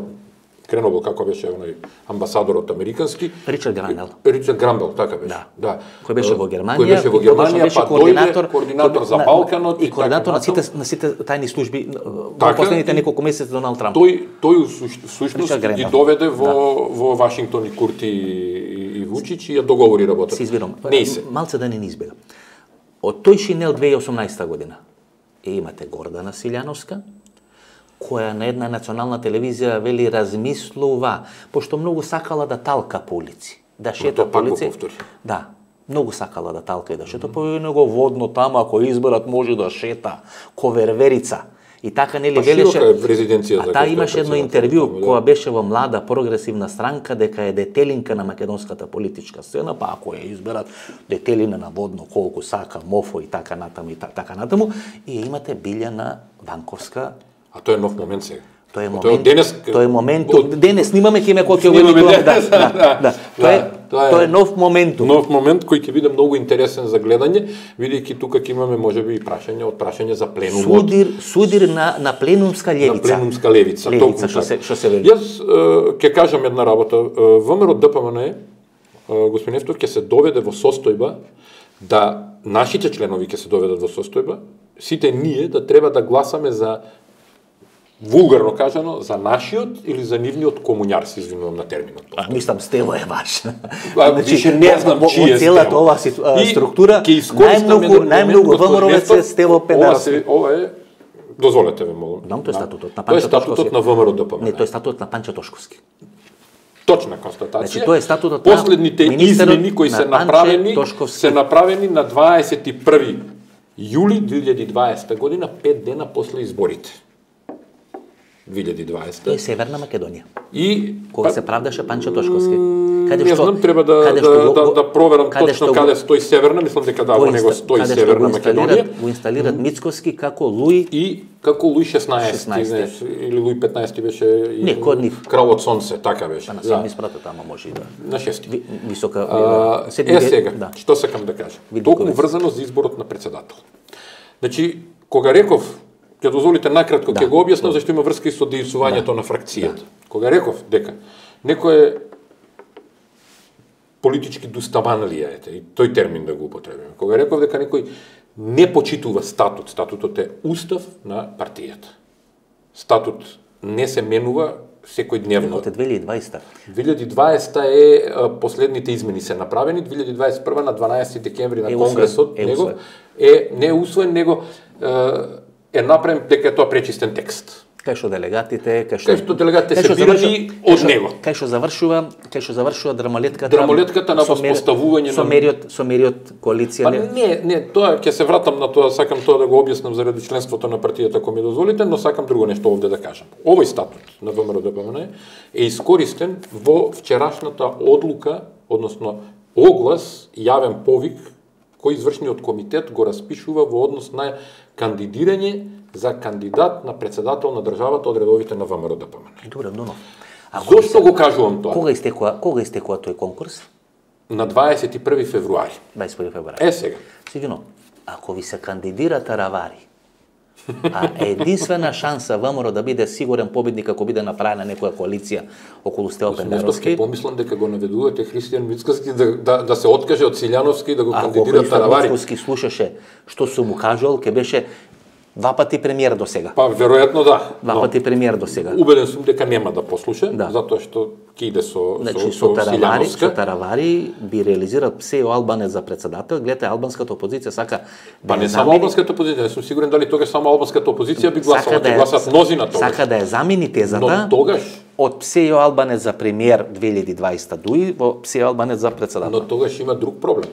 Speaker 2: Кренобил, како беше оној амбасадорот американски.
Speaker 1: Ричард Грамбел.
Speaker 2: Ричард Грамбел, така беше.
Speaker 1: Да.
Speaker 2: да.
Speaker 1: Кој беше во Германија.
Speaker 2: Кој беше во Германија, па
Speaker 1: координатор,
Speaker 2: дојде координатор за Балканот
Speaker 1: и координатор на сите на сите тајни служби
Speaker 2: така,
Speaker 1: во последните неколку месеци Доналд Трамп.
Speaker 2: Тој тој всушност ги доведе во да. во Вашингтон и Курти и, и Вучич и ја договори работата.
Speaker 1: Се избирам.
Speaker 2: Не се.
Speaker 1: Малце да не ни избега. Од тој шинел две илјади и осумнаесета година е имате Гордана Силјановска, која на една национална телевизија вели размислува, пошто многу сакала да талка по улици, да шета по улици. Да, многу сакала да талка и да шета, по него водно тама, ако изберат може да шета, коверверица. И така нели велеше. А таа имаше едно интервју кога беше во млада прогресивна странка дека е детелинка на македонската политичка сцена, па ако ја изберат детелина на водно колку сака, мофо и така натаму и така натаму, и имате Билјана Ванковска.
Speaker 2: А тоа е нов момент сега.
Speaker 1: Тоа е момент. Денес, тоа е моментум. Денес снимаме киме кој ќе го емитуваме. Да, да, да. Тоа е тоа е нов моментум.
Speaker 2: Нов момент кој ќе биде многу интересен за гледање, бидејќи тука ќе имаме можеби и прашање од прашање за пленумот.
Speaker 1: Судир, судир на на пленумска левица.
Speaker 2: На пленумска левица,
Speaker 1: левица што се што се вели.
Speaker 2: Јас ќе кажам една работа. ВМРО-ДПМН господин Ефтов ќе се доведе во состојба да нашите членови ќе се доведат во состојба, сите ние да треба да гласаме за вулгарно кажано, за нашиот или за нивниот комуњар, се извинувам на терминот.
Speaker 1: А, мислам, Стево е важна.
Speaker 2: Значи, више не знам чие Стево.
Speaker 1: Целата ова структура, најмногу, најмногу ВМРО-вец е Стево Педарски.
Speaker 2: Ова е, дозволете ме, молам.
Speaker 1: Знам, тој е статутот на
Speaker 2: Панча Тошковски. Тој е статутот на ВМРО-ДПМН.
Speaker 1: Не, тој е статутот на Панча Тошковски.
Speaker 2: Точна констатација.
Speaker 1: Значи, тоа е статутот
Speaker 2: на последните измени кои се направени, се направени на дваесет и први јули две илјади и дваесета година, пет дена после изборите. две илјади и дваесета.
Speaker 1: Тоа е Северна Македонија.
Speaker 2: И
Speaker 1: кога па, се правдаше Панча Тошковски.
Speaker 2: Каде што? Не знам, треба да да, го, да, да проверам каде точно каде стои Северна, мислам дека да во него стои Северна Македонија.
Speaker 1: Го инсталират mm. Мицкоски како Луи
Speaker 2: и како Луи шеснаесети, знаеш, или Луи петнаесети беше и
Speaker 1: не, код нив.
Speaker 2: Кралот Сонце, така беше.
Speaker 1: Па на седми спрата тама може и да.
Speaker 2: На шести.
Speaker 1: Ви, висока
Speaker 2: а, е сега, да. Што сакам да кажам? Толку врзано за изборот на председател. Значи, кога реков ќе дозволите накратко, ќе да, го објаснам зашто има врска и со дејствувањето да, на фракцијата. Да. Кога реков дека некој е политички дуставан ли е, и тој термин да го употребиме. Кога реков дека некој не почитува статут, статутот е устав на партијата. Статут не се менува секојдневно.
Speaker 1: Од две илјади и дваесета.
Speaker 2: две илјади и дваесета е последните измени се направени, две илјади и дваесет и прва на дванаесети декември на конгресот
Speaker 1: е
Speaker 2: него е не усвоен, него е направен дека е тоа пречистен текст.
Speaker 1: Кај што делегатите, кај што
Speaker 2: кај што делегатите се бирани од него.
Speaker 1: Кај што завршува, кај што завршува драмалетката.
Speaker 2: Драмалетката на воспоставување на
Speaker 1: со мериот, со мериот коалиција.
Speaker 2: Па не, не, тоа ќе се вратам на тоа, сакам тоа да го објаснам заради членството на партијата ако ми дозволите, но сакам друго нешто овде да кажам. Овој статут на ВМРО-ДПМН е искористен во вчерашната одлука, односно оглас, јавен повик, кој извршниот комитет го распишува во однос на кандидирање за кандидат на председател на државата од редовите на ВМРО Д П М Н.
Speaker 1: Добре, но.
Speaker 2: Зошто го кажувам тоа?
Speaker 1: Кога истекува, кога истекува тој конкурс?
Speaker 2: На дваесет и први февруари.
Speaker 1: дваесет и први февруари.
Speaker 2: Е сега.
Speaker 1: Сигурно, ако ви се кандидира Таравари, а единствена шанса ВМРО да биде сигурен победник ако биде направена некоја коалиција околу Стево Пендаровски.
Speaker 2: Нешто помислам дека го наведувате Христијан Мицкоски да, да, да се откаже од Силјановски да го кандидира Таравари.
Speaker 1: Ако Мицкоски слушаше што сум му кажал, ке беше два пати премиер до сега.
Speaker 2: Па веројатно да.
Speaker 1: Два пати премиер до сега.
Speaker 2: Убеден сум дека нема да послуша,
Speaker 1: да.
Speaker 2: затоа што ќе иде со
Speaker 1: значи,
Speaker 2: со, со,
Speaker 1: со Таравари,
Speaker 2: Силјановска.
Speaker 1: Со Таравари би реализирал Псејо Албанец за председател. Гледате, албанската опозиција сака
Speaker 2: Па не само албанската опозиција, не сум сигурен дали тогаш само албанската опозиција би гласала, ќе гласат мнози на тогаш.
Speaker 1: Сака да ја замени тезата.
Speaker 2: Но тогаш
Speaker 1: од Псејо Албанец за премиер две илјади и дваесета дуи во Псејо Албанец за председател.
Speaker 2: Но тогаш има друг проблем.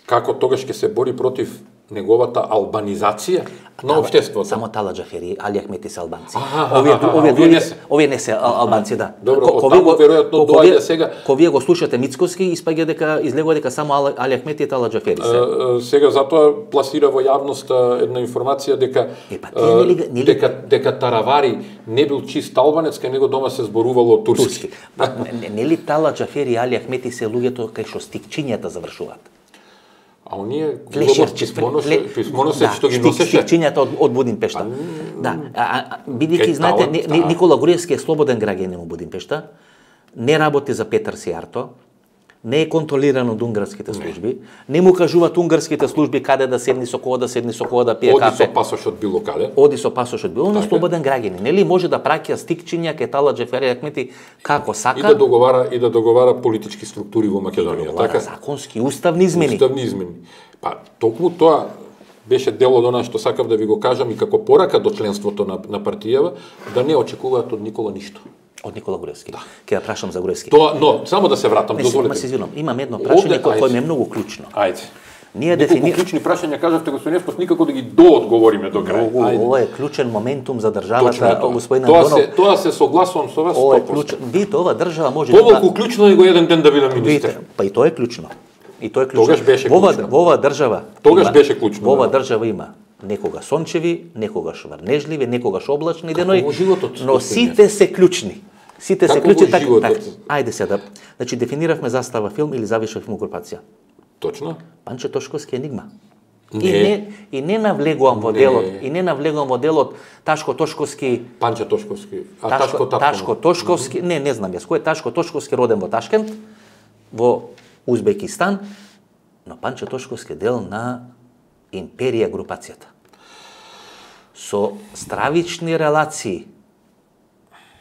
Speaker 2: Како тогаш ќе се бори против неговата албанизација на општеството?
Speaker 1: Само Тала Џафери, Али Ахмети се албанци.
Speaker 2: Аха,
Speaker 1: овие
Speaker 2: аха,
Speaker 1: овие
Speaker 2: овие не се.
Speaker 1: Овие не се албанци, да.
Speaker 2: Добро, од таму веројатно доаѓа сега.
Speaker 1: Кога вие го слушате Мицкоски, испаѓа дека излегува дека само Али Ахмети и Тала Џафери се.
Speaker 2: Сега затоа пласира во јавноста една информација дека
Speaker 1: е, па, нели, нели...
Speaker 2: дека дека Таравари не бил чист албанец, кај него дома се зборувало турски. турски.
Speaker 1: Па, нели Тала Џафери и Али Ахмети се луѓето кај што стикчињата завршуваат?
Speaker 2: А оние
Speaker 1: писмоно
Speaker 2: се што ги носеше
Speaker 1: стикчињата од, од Будимпешта. Да, а, бидејќи знаете не, Никола Груевски е слободен граѓанин во Будимпешта, не работи за Петар Сијарто, не е контролиран од унгарските служби, не, не му кажуваат унгарските служби каде да седни со кого да седни со кого да пие
Speaker 2: Оди
Speaker 1: кафе.
Speaker 2: Оди со пасош од било каде.
Speaker 1: Оди со пасош од било, но слободен граѓанин. Нели може да праќа стикчиња кај Тала Џафери Ахмети како сака.
Speaker 2: И да договара и да договара политички структури во Македонија,
Speaker 1: да така законски уставни измени.
Speaker 2: Уставни измени. Па токму тоа беше дел од она што сакав да ви го кажам и како порака до членството на на партијава да не очекуваат од Никола ништо.
Speaker 1: Од Никола Груевски.
Speaker 2: Да.
Speaker 1: Ќе ја прашам за Груевски.
Speaker 2: Тоа, но само да се вратам,
Speaker 1: не,
Speaker 2: дозволете.
Speaker 1: Не се извинувам, имам едно прашање кое кое ми е многу клучно.
Speaker 2: Ајде.
Speaker 1: Ние
Speaker 2: дефини...
Speaker 1: дефини...
Speaker 2: клучни прашања кажавте господин Евтов, никако да ги доодговориме до крај.
Speaker 1: Ова е клучен моментум за државата, господин
Speaker 2: Тоа
Speaker 1: Андонов.
Speaker 2: се тоа се согласувам со вас
Speaker 1: Ова е
Speaker 2: сто проценти.
Speaker 1: клучен. Видите, ова држава може
Speaker 2: Поволку клучно е го еден ден да биде министер.
Speaker 1: Видите, па и тоа е клучно. И тоа е клучно.
Speaker 2: Тогаш беше
Speaker 1: во ова,
Speaker 2: клучно.
Speaker 1: во ова држава.
Speaker 2: Тогаш беше клучно.
Speaker 1: Во ова
Speaker 2: да.
Speaker 1: држава има некогаш сончеви, некогаш врнежливи, некогаш облачни денови,
Speaker 2: животот,
Speaker 1: но сите се клучни. Сите се
Speaker 2: Како
Speaker 1: клучни
Speaker 2: во
Speaker 1: така.
Speaker 2: животот?
Speaker 1: Так, ајде сега да. Значи дефиниравме застава филм или завиша филм групација.
Speaker 2: Точно.
Speaker 1: Панче Тошковски енигма.
Speaker 2: Не.
Speaker 1: И не и не навлегувам во
Speaker 2: Не.
Speaker 1: делот, и не навлегувам во делот Ташко Тошковски.
Speaker 2: Панче Тошковски. А
Speaker 1: Ташко,
Speaker 2: Ташко Ташко,
Speaker 1: Ташко Тошковски, не, не знам јас кој е Ташко Тошковски, роден во Ташкент, во Узбекистан, но Панче Тошковски е дел на империја групацијата. Со стравични релации,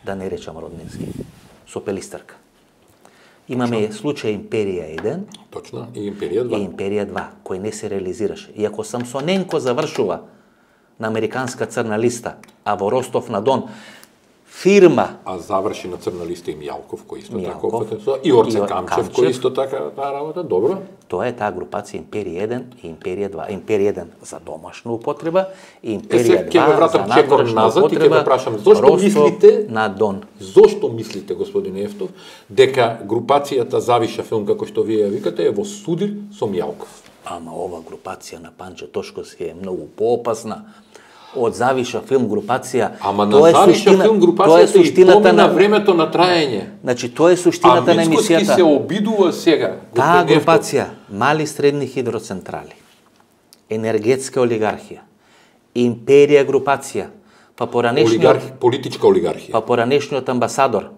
Speaker 1: да не речам роднински, со Пелистерка. Имаме случај Империја еден,
Speaker 2: Точно, и Империја два.
Speaker 1: и Империја два, кој не се реализираше. И ако Самсоненко завршува на американска црна листа, а во Ростов на Дон фирма,
Speaker 2: А заврши на црна листа и Мјалков, кој исто така
Speaker 1: Мјалков,
Speaker 2: опфатен, и Орце
Speaker 1: и Ор-
Speaker 2: Камчев,
Speaker 1: Камчев.
Speaker 2: кој исто така таа работа, добро.
Speaker 1: тоа е таа групација Империја еден и Империја два. Империја еден за домашна употреба и
Speaker 2: Е,
Speaker 1: Империја
Speaker 2: сега ќе
Speaker 1: два
Speaker 2: ве
Speaker 1: за
Speaker 2: вратам чекор
Speaker 1: надворешна
Speaker 2: назад и ќе
Speaker 1: употреба.
Speaker 2: ве прашам, зошто
Speaker 1: Ростов
Speaker 2: мислите-
Speaker 1: на Дон?
Speaker 2: Зошто мислите, господин Ефтов, дека групацијата Завиша филм, како што вие ја викате, е во судир со Мјалков?
Speaker 1: Ама ова групација на Панче Тошковски е многу поопасна од Завиша филм групација.
Speaker 2: Ама на
Speaker 1: Тоа е
Speaker 2: Завиша
Speaker 1: суштина-
Speaker 2: филм
Speaker 1: тоа е
Speaker 2: групацијата и
Speaker 1: суштината
Speaker 2: помина
Speaker 1: на
Speaker 2: времето на траење.
Speaker 1: Значи тоа е
Speaker 2: А
Speaker 1: суштината на
Speaker 2: Мицкоски
Speaker 1: емисијата.
Speaker 2: се обидува сега.
Speaker 1: Таа
Speaker 2: господин Ефтов.
Speaker 1: групација, мали средни хидроцентрали, енергетска олигархија, империја групација, па поранешниот,
Speaker 2: Олигархи, политичка олигархија.
Speaker 1: па поранешниот амбасадор,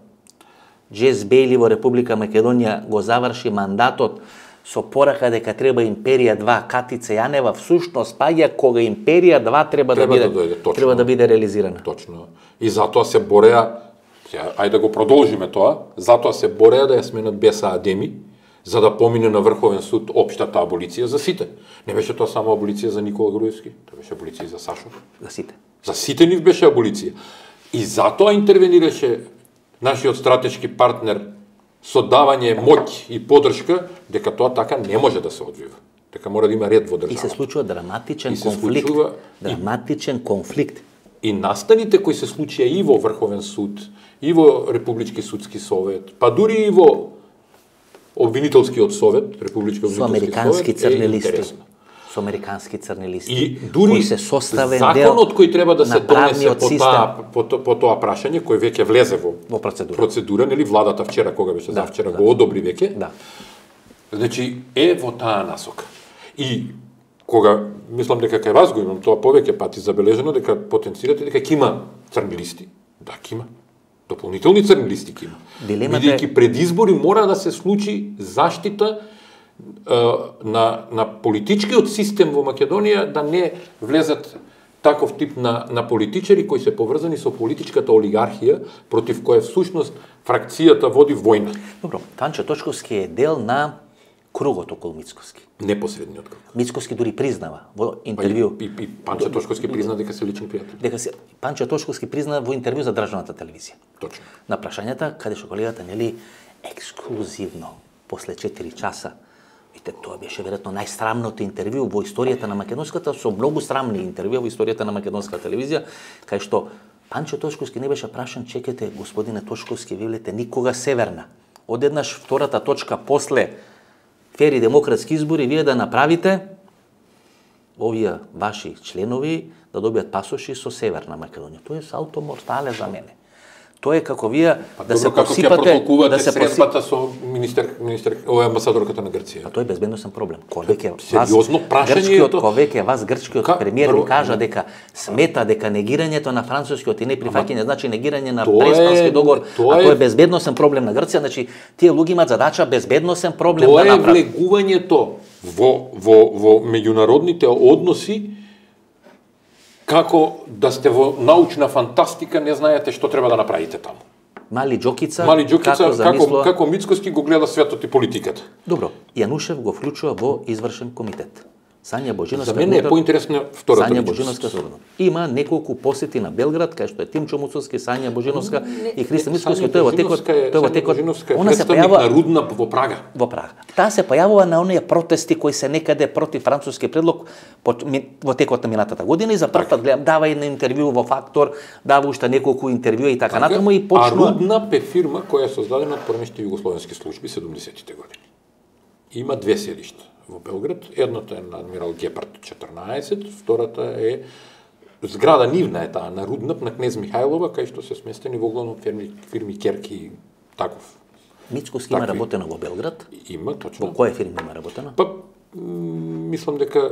Speaker 1: Джес Бейли во Република Македонија го заврши мандатот со порака дека треба Империја два, Катица Јанева всушност паѓа кога Империја два треба,
Speaker 2: Треба
Speaker 1: да
Speaker 2: да
Speaker 1: биде
Speaker 2: дојде, точно.
Speaker 1: треба да биде реализирана.
Speaker 2: Точно. И затоа се бореа, сега, ајде да го продолжиме тоа, затоа се бореа да ја сменат Беса Адеми, за да помине на Врховен суд општата аболиција за сите. Не беше тоа само аболиција за Никола Груевски, тоа беше аболиција и за Сашо.
Speaker 1: За сите.
Speaker 2: За сите нив беше аболиција. И затоа интервенираше нашиот стратешки партнер со давање моќ и подршка, дека тоа така не може да се одвива. Дека мора да има ред во државата.
Speaker 1: И се случува драматичен
Speaker 2: И се
Speaker 1: конфликт.
Speaker 2: случува-
Speaker 1: Драматичен конфликт.
Speaker 2: И настаните кои се случија и во Врховен суд, и во Републички судски совет, па дури и во обвинителскиот совет, републички обвинителски
Speaker 1: со американски
Speaker 2: совет
Speaker 1: црни
Speaker 2: е
Speaker 1: листи.
Speaker 2: интересна.
Speaker 1: Со американски црни листи.
Speaker 2: И дури
Speaker 1: се составен
Speaker 2: законот кој треба да се донесе по
Speaker 1: систем.
Speaker 2: таа по, по тоа прашање кој веќе влезе во,
Speaker 1: во процедура.
Speaker 2: Процедура, нели владата вчера кога беше
Speaker 1: Да,
Speaker 2: завчера
Speaker 1: да.
Speaker 2: го одобри веќе.
Speaker 1: Да.
Speaker 2: Значи е во таа насока. И кога мислам дека кај вас го имам тоа повеќе пати забележено дека потенцирате дека ќе има црни листи. Да, ќе има. Дополнителни црни листи ќе има.
Speaker 1: Дилемата е-
Speaker 2: Бидејќи пред избори мора да се случи заштита е, на на политичкиот систем во Македонија да не влезат таков тип на на политичари кои се поврзани со политичката олигархија против која всушност фракцијата води војна.
Speaker 1: Добро, Панчо Точковски е дел на кругот околу Мицкоски.
Speaker 2: Непосредниот круг.
Speaker 1: Мицкоски дури признава во
Speaker 2: Па и,
Speaker 1: интервју
Speaker 2: и, и Панчо Тошковски призна дека се лични пријатели.
Speaker 1: дека се Панчо Точковски призна во интервју за државната телевизија.
Speaker 2: Точно.
Speaker 1: На прашањата каде што колегата нели ексклузивно после четири часа. Вите, тоа беше веројатно најсрамното интервју во историјата на македонската, со многу срамни интервјуа во историјата на македонска телевизија, кај што Панчо Точковски не беше прашан, чекате, господине Точковски, ви велите никога северна. Одеднаш втората точка после фери демократски избори, вие да направите овие ваши членови да добијат пасоши со Северна Македонија. Тоа е салто мортале за мене. Тоа е како вие
Speaker 2: Па,
Speaker 1: да
Speaker 2: добро,
Speaker 1: се
Speaker 2: како ќе
Speaker 1: посипате,
Speaker 2: протолкувате
Speaker 1: да се
Speaker 2: средбата со министер министер ова амбасадорката на Грција.
Speaker 1: А тоа е безбедносен проблем. Кога веќе
Speaker 2: Сериозно прашање е
Speaker 1: грчкиот,
Speaker 2: тоа?
Speaker 1: кога веќе вас грчкиот
Speaker 2: Ка-
Speaker 1: премиер
Speaker 2: прво-
Speaker 1: ви кажа дека смета дека негирањето на францускиот и неприфаќање значи негирање на
Speaker 2: тоа е-
Speaker 1: Преспански договор,
Speaker 2: тоа
Speaker 1: а
Speaker 2: е-
Speaker 1: тоа е безбедносен проблем на Грција, значи тие луѓе имаат задача безбедносен проблем
Speaker 2: Тоа
Speaker 1: да
Speaker 2: е
Speaker 1: направат.
Speaker 2: влегувањето во во во меѓународните односи како да сте во научна фантастика, не знаете што треба да направите таму.
Speaker 1: Мали Џокица,
Speaker 2: Мали Џукица,
Speaker 1: како
Speaker 2: како,
Speaker 1: замислува...
Speaker 2: како Мицкоски го гледа светот и политиката.
Speaker 1: Добро, Јанушев го вклучува во извршен комитет. Сања Божиновска...
Speaker 2: За мене е
Speaker 1: внутра-
Speaker 2: поинтересна втората
Speaker 1: Сања
Speaker 2: личност.
Speaker 1: Божиновска соодобно. Има неколку посети на Белград, кај што е Тимчо Муцовски, Сања Божиновска и Христо Мицкоски, тој во текот, тој во текот,
Speaker 2: она се појавува на Рудна во Прага.
Speaker 1: во Прага. Таа се појавува на оние протести кои се некаде против француски предлог по- ми- во текот на минатата година и за прв пат гледам дава и на интервју во Фактор, дава уште неколку интервјуа и така натаму и
Speaker 2: А
Speaker 1: почнува
Speaker 2: Рудна е фирма која е создадена од поранешните југословенски служби седумдесетите години. Има две селишта во Белград. Едното е на Адмирал Гепард четрнаесет, втората е зграда нивна е таа на Руднап на Кнез Михајлова, кај што се сместени во главно фирми, фирми Керки и таков.
Speaker 1: Мицкоски има
Speaker 2: такви.
Speaker 1: работено во Белград.
Speaker 2: Има
Speaker 1: Во
Speaker 2: точно.
Speaker 1: која фирма има работено?
Speaker 2: Па м, мислам дека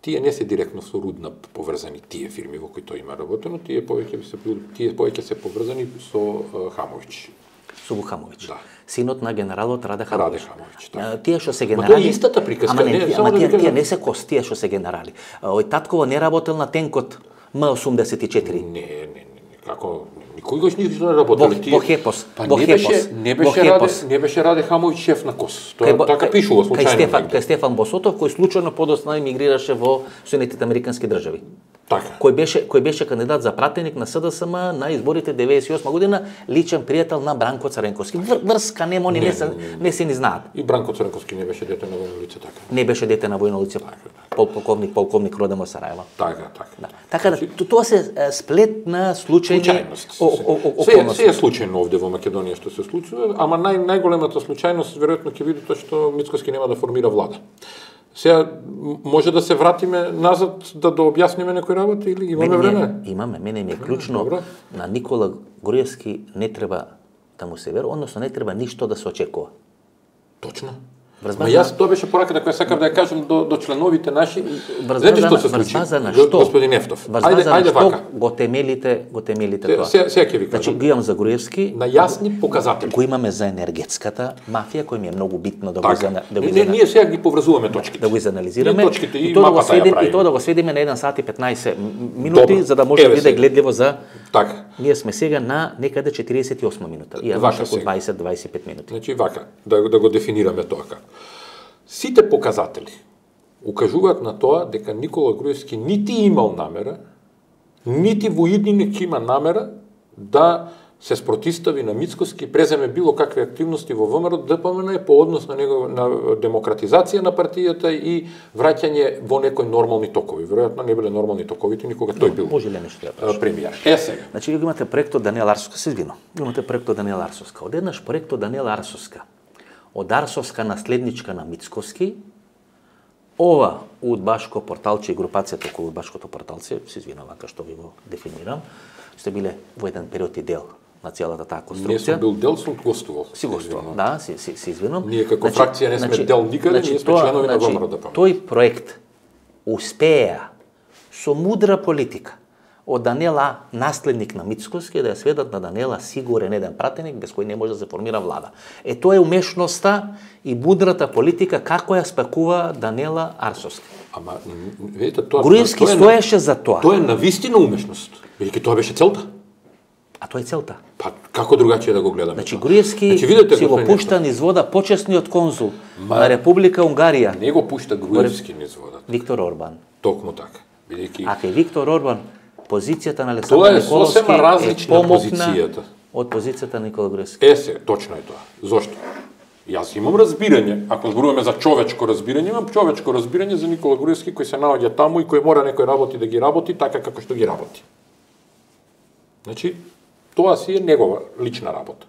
Speaker 2: тие не се директно со Руднап поврзани тие фирми во кои тој има работено, тие повеќе се тие повеќе се поврзани со uh, Хамович.
Speaker 1: Со Вухамович.
Speaker 2: Да.
Speaker 1: Синот на генералот Раде Хамович.
Speaker 2: Раде Хамович, да.
Speaker 1: А, Тие што се
Speaker 2: Ма
Speaker 1: генерали...
Speaker 2: тоа е истата приказка,
Speaker 1: Ама не,
Speaker 2: не,
Speaker 1: тие,
Speaker 2: само
Speaker 1: ама
Speaker 2: да ви
Speaker 1: тие,
Speaker 2: кажам.
Speaker 1: тие не се кост, тие што се генерали. А, Ој Татково не работел на тенкот М осумдесет и четири.
Speaker 2: Не, не, не, не, како никој го ништо не
Speaker 1: Во,
Speaker 2: работел. Тие-
Speaker 1: во Хепос.
Speaker 2: Па
Speaker 1: во
Speaker 2: не
Speaker 1: Хепос.
Speaker 2: беше, не
Speaker 1: во
Speaker 2: беше Раде,
Speaker 1: Хепос.
Speaker 2: не беше Раде Хамович шеф на КОС. Тоа
Speaker 1: Кај Бо-
Speaker 2: така
Speaker 1: кај-
Speaker 2: пишува
Speaker 1: Кај
Speaker 2: случајно.
Speaker 1: Стефан,
Speaker 2: негде.
Speaker 1: кај Стефан Босотов, кој случајно подоцна емигрираше во Соединетите Американски држави.
Speaker 2: Така.
Speaker 1: Кој беше кој беше кандидат за пратеник на СДСМ на изборите деветдесет и осма година, личен пријател на Бранко Цренковски. Вр, врска нема, они не,
Speaker 2: Не,
Speaker 1: не, се,
Speaker 2: не, не.
Speaker 1: не се ни знаат.
Speaker 2: И Бранко Цренковски не беше дете на војно лице, така.
Speaker 1: Не беше дете на војно лице, пол- полковник, полковник роден во Сараево.
Speaker 2: Така, така.
Speaker 1: Да. Така да т- тоа се е, сплет на случајни
Speaker 2: Случајност.
Speaker 1: о- о- о-
Speaker 2: Се,
Speaker 1: околности.
Speaker 2: се е случајно овде во Македонија што се случува, ама нај, најголемата случајност веројатно ќе видите што Мицкоски нема да формира влада. Сега м- може да се вратиме назад да да објасниме некои работи или имаме
Speaker 1: Мене ми е-
Speaker 2: време?
Speaker 1: Имаме, мене ми е клучно
Speaker 2: Добро.
Speaker 1: на Никола Груевски не треба да му се верува, односно не треба ништо да се очекува.
Speaker 2: Точно.
Speaker 1: Врз
Speaker 2: Ма
Speaker 1: база-
Speaker 2: јас тоа беше пораката која сакав да ја кажам до, до членовите наши.
Speaker 1: Врз
Speaker 2: Знаете
Speaker 1: база
Speaker 2: што
Speaker 1: на-
Speaker 2: се
Speaker 1: врз
Speaker 2: случи?
Speaker 1: база на
Speaker 2: Го-
Speaker 1: што?
Speaker 2: Господин Ефтов.
Speaker 1: Врз
Speaker 2: Ајде,
Speaker 1: база на
Speaker 2: ајде
Speaker 1: што
Speaker 2: вака.
Speaker 1: го темелите, го темелите
Speaker 2: Се-
Speaker 1: тоа.
Speaker 2: се- сега ќе ви
Speaker 1: Значи,
Speaker 2: кажам.
Speaker 1: го имам за Груевски,
Speaker 2: На јасни показатели.
Speaker 1: го имаме за енергетската мафија, кој ми е многу битно да го
Speaker 2: Така.
Speaker 1: изана- да го
Speaker 2: Не, не,
Speaker 1: изана-
Speaker 2: ние сега ги поврзуваме точките.
Speaker 1: да го изанализираме.
Speaker 2: Ние точките и
Speaker 1: тоа да го
Speaker 2: мапата ја
Speaker 1: сведеме, и
Speaker 2: правиме.
Speaker 1: тоа да го сведеме на еден сат и петнаесет м- минути,
Speaker 2: Добро.
Speaker 1: за да може да
Speaker 2: Еве
Speaker 1: биде
Speaker 2: сега.
Speaker 1: гледливо за...
Speaker 2: Така.
Speaker 1: Ние сме сега на некаде четириесет и осма минута. И
Speaker 2: Вака
Speaker 1: околу
Speaker 2: сега.
Speaker 1: дваесет до дваесет и пет минути.
Speaker 2: Значи вака, да, да го дефинираме тоа како. Сите показатели укажуваат на тоа дека Никола Груевски нити имал намера, нити во иднинек има намера да се спротистави на Мицкоски, преземе било какви активности во ВМРО ДПМН по однос на него на демократизација на партијата и враќање во некои нормални токови. Веројатно не биле нормални токовите, никога тој бил
Speaker 1: Може ли нешто да
Speaker 2: а,
Speaker 1: прашам?
Speaker 2: премиер. Е сега.
Speaker 1: Значи, ви го имате проектот Даниела Арсовска, се извинам. Ви имате проектот Даниела Арсовска. Одеднаш проектот Даниела Арсовска од Арсовска наследничка на Мицкоски, ова удбашко порталче и групацијата околу удбашкото порталче, се извинувам вака што ви го дефинирам, сте биле во еден период и дел на целата таа конструкција.
Speaker 2: Не сум бил дел, сум гостувал.
Speaker 1: Си гостувал, да, си, си, си извинувам.
Speaker 2: Ние како значи, фракција не сме значи, дел никаде, значи, ние сме тоа, членови значи, на ВМРО.
Speaker 1: Тој проект успеа со мудра политика од Данела, наследник на Мицкоски, да ја сведат на Данела сигурен еден пратеник без кој не може да се формира влада. Е, тоа е умешноста и мудрата политика како ја спакува Данела Арсовски.
Speaker 2: Ама, видите, тоа...
Speaker 1: Груевски
Speaker 2: тоа
Speaker 1: стоеше за тоа.
Speaker 2: Тоа е навистина умешност. Бидејќи тоа беше целта.
Speaker 1: А тоа е целта.
Speaker 2: Па, како другачие да го гледаме?
Speaker 1: Значи, Груевски значи, видите, си го пушта низ вода почесниот конзул Ма, на Република Унгарија.
Speaker 2: Не го пушта Груевски низ вода.
Speaker 1: Виктор Орбан.
Speaker 2: Токму така. Бидејќи...
Speaker 1: А кај Виктор Орбан, позицијата на Александар Николовски
Speaker 2: е различна позицијата.
Speaker 1: Од позицијата на Никола Груевски.
Speaker 2: Е се, точно е тоа. Зошто? Јас имам разбирање, ако зборуваме за човечко разбирање, имам човечко разбирање за Никола Груевски кој се наоѓа таму и кој мора некој работи да ги работи така како што ги работи. Значи, тоа си е негова лична работа.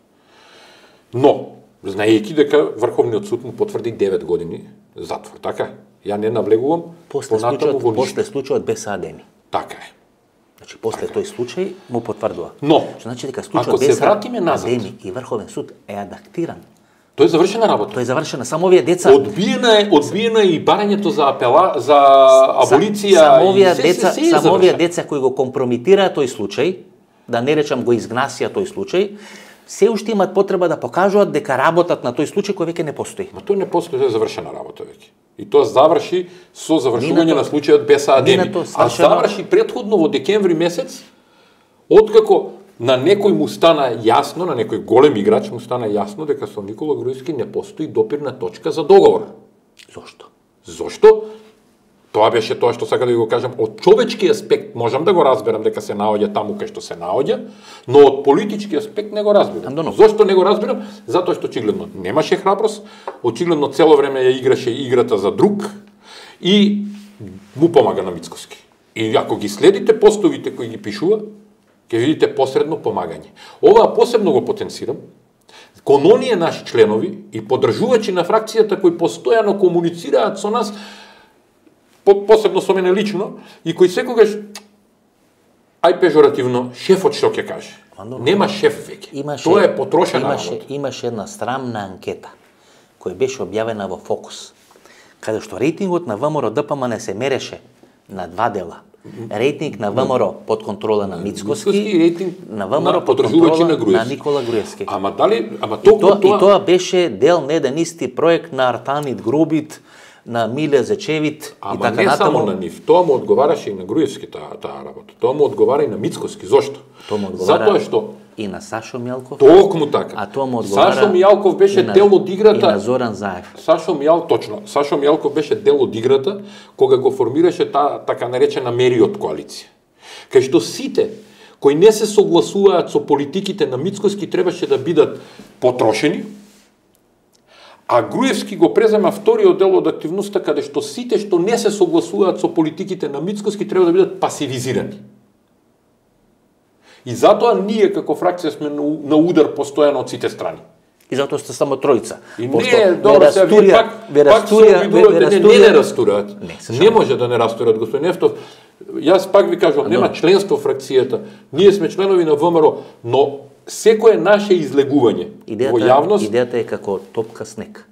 Speaker 2: Но, знаејќи дека Врховниот суд му потврди девет години затвор, така? Ја не навлегувам
Speaker 1: после случајот, после случајот Беса Адеми.
Speaker 2: Така е.
Speaker 1: Значи, после така. Тој случај му потврдува.
Speaker 2: Но,
Speaker 1: значи дека случајот
Speaker 2: ако се вратиме назад,
Speaker 1: Адеми и Врховен суд е адаптиран.
Speaker 2: Тоа е завршена работа.
Speaker 1: Тоа е завршена. Само овие деца
Speaker 2: одбиена е, одбиена е и барањето за апела, за аболиција.
Speaker 1: Само овие деца, се, се само овие деца кои го компрометираа тој случај, да не речам го изгнасија тој случај, се уште имаат потреба да покажуваат дека работат на тој случај кој веќе не постои.
Speaker 2: Ма тој не постои, тоа е завршена работа веќе. И тоа заврши со завршување на случајот Беса Адеми. А заврши претходно во декември месец, откако на некој му стана јасно, на некој голем играч му стана јасно дека со Никола Груевски не постои допирна точка за договор.
Speaker 1: Зошто?
Speaker 2: Зошто? Тоа беше тоа што сакам да ви го кажам. Од човечки аспект можам да го разберам дека се наоѓа таму кај што се наоѓа, но од политички аспект не го разбирам.
Speaker 1: Андоно.
Speaker 2: Зошто не го разбирам? Затоа што очигледно немаше храброст, очигледно цело време ја играше играта за друг и му помага на Мицкоски. И ако ги следите постовите кои ги пишува, ќе видите посредно помагање. Ова посебно го потенцирам кон оние наши членови и поддржувачи на фракцијата кои постојано комуницираат со нас, посебно со мене лично, и кој секогаш, ај пежоративно, шефот што ќе каже.
Speaker 1: Андо,
Speaker 2: нема шеф веќе.
Speaker 1: Имаше,
Speaker 2: Тоа е потрошена
Speaker 1: имаше,
Speaker 2: работа.
Speaker 1: Имаше една срамна анкета, која беше објавена во Фокус, каде што рейтингот на ВМРО-ДПМН се мереше на два дела. Рейтинг на ВМРО под контрола на Мицкоски
Speaker 2: и рейтинг
Speaker 1: на ВМРО под контрола на, на Никола Груевски.
Speaker 2: Ама дали, ама
Speaker 1: и, тоа, тоа... и тоа беше дел на еден исти проект на Артанит Грубит, на Миле Зечевит
Speaker 2: ама
Speaker 1: и така
Speaker 2: не
Speaker 1: натаму.
Speaker 2: Само на нив, тоа му одговараше и на Груевски таа таа работа. Тоа му одговара и на Мицкоски. Зошто?
Speaker 1: Тоа му одговара
Speaker 2: Затоа што
Speaker 1: и на Сашо Мјалков.
Speaker 2: Токму така.
Speaker 1: А тоа му одговара
Speaker 2: Сашо Мјалков беше
Speaker 1: на,
Speaker 2: дел од играта.
Speaker 1: И на Зоран Заев.
Speaker 2: Сашо Мјал, точно. Сашо Мјалков беше дел од играта кога го формираше таа така наречена Мериот коалиција. Кај што сите кои не се согласуваат со политиките на Мицкоски требаше да бидат потрошени, а Груевски го презема вториот дел од активноста каде што сите што не се согласуваат со политиките на Мицкоски треба да бидат пасивизирани. И затоа ние како фракција сме на удар постојано од сите страни.
Speaker 1: И затоа сте само тројца.
Speaker 2: И не, добро се, ви пак, пак се обидувате, не, не, не растураат. Не, не може да не растураат, господин Нефтов. Јас пак ви кажувам, нема членство во фракцијата. Ние сме членови на ВМРО, но секое наше излегување
Speaker 1: идејата,
Speaker 2: во јавност...
Speaker 1: Идејата е како топка снег.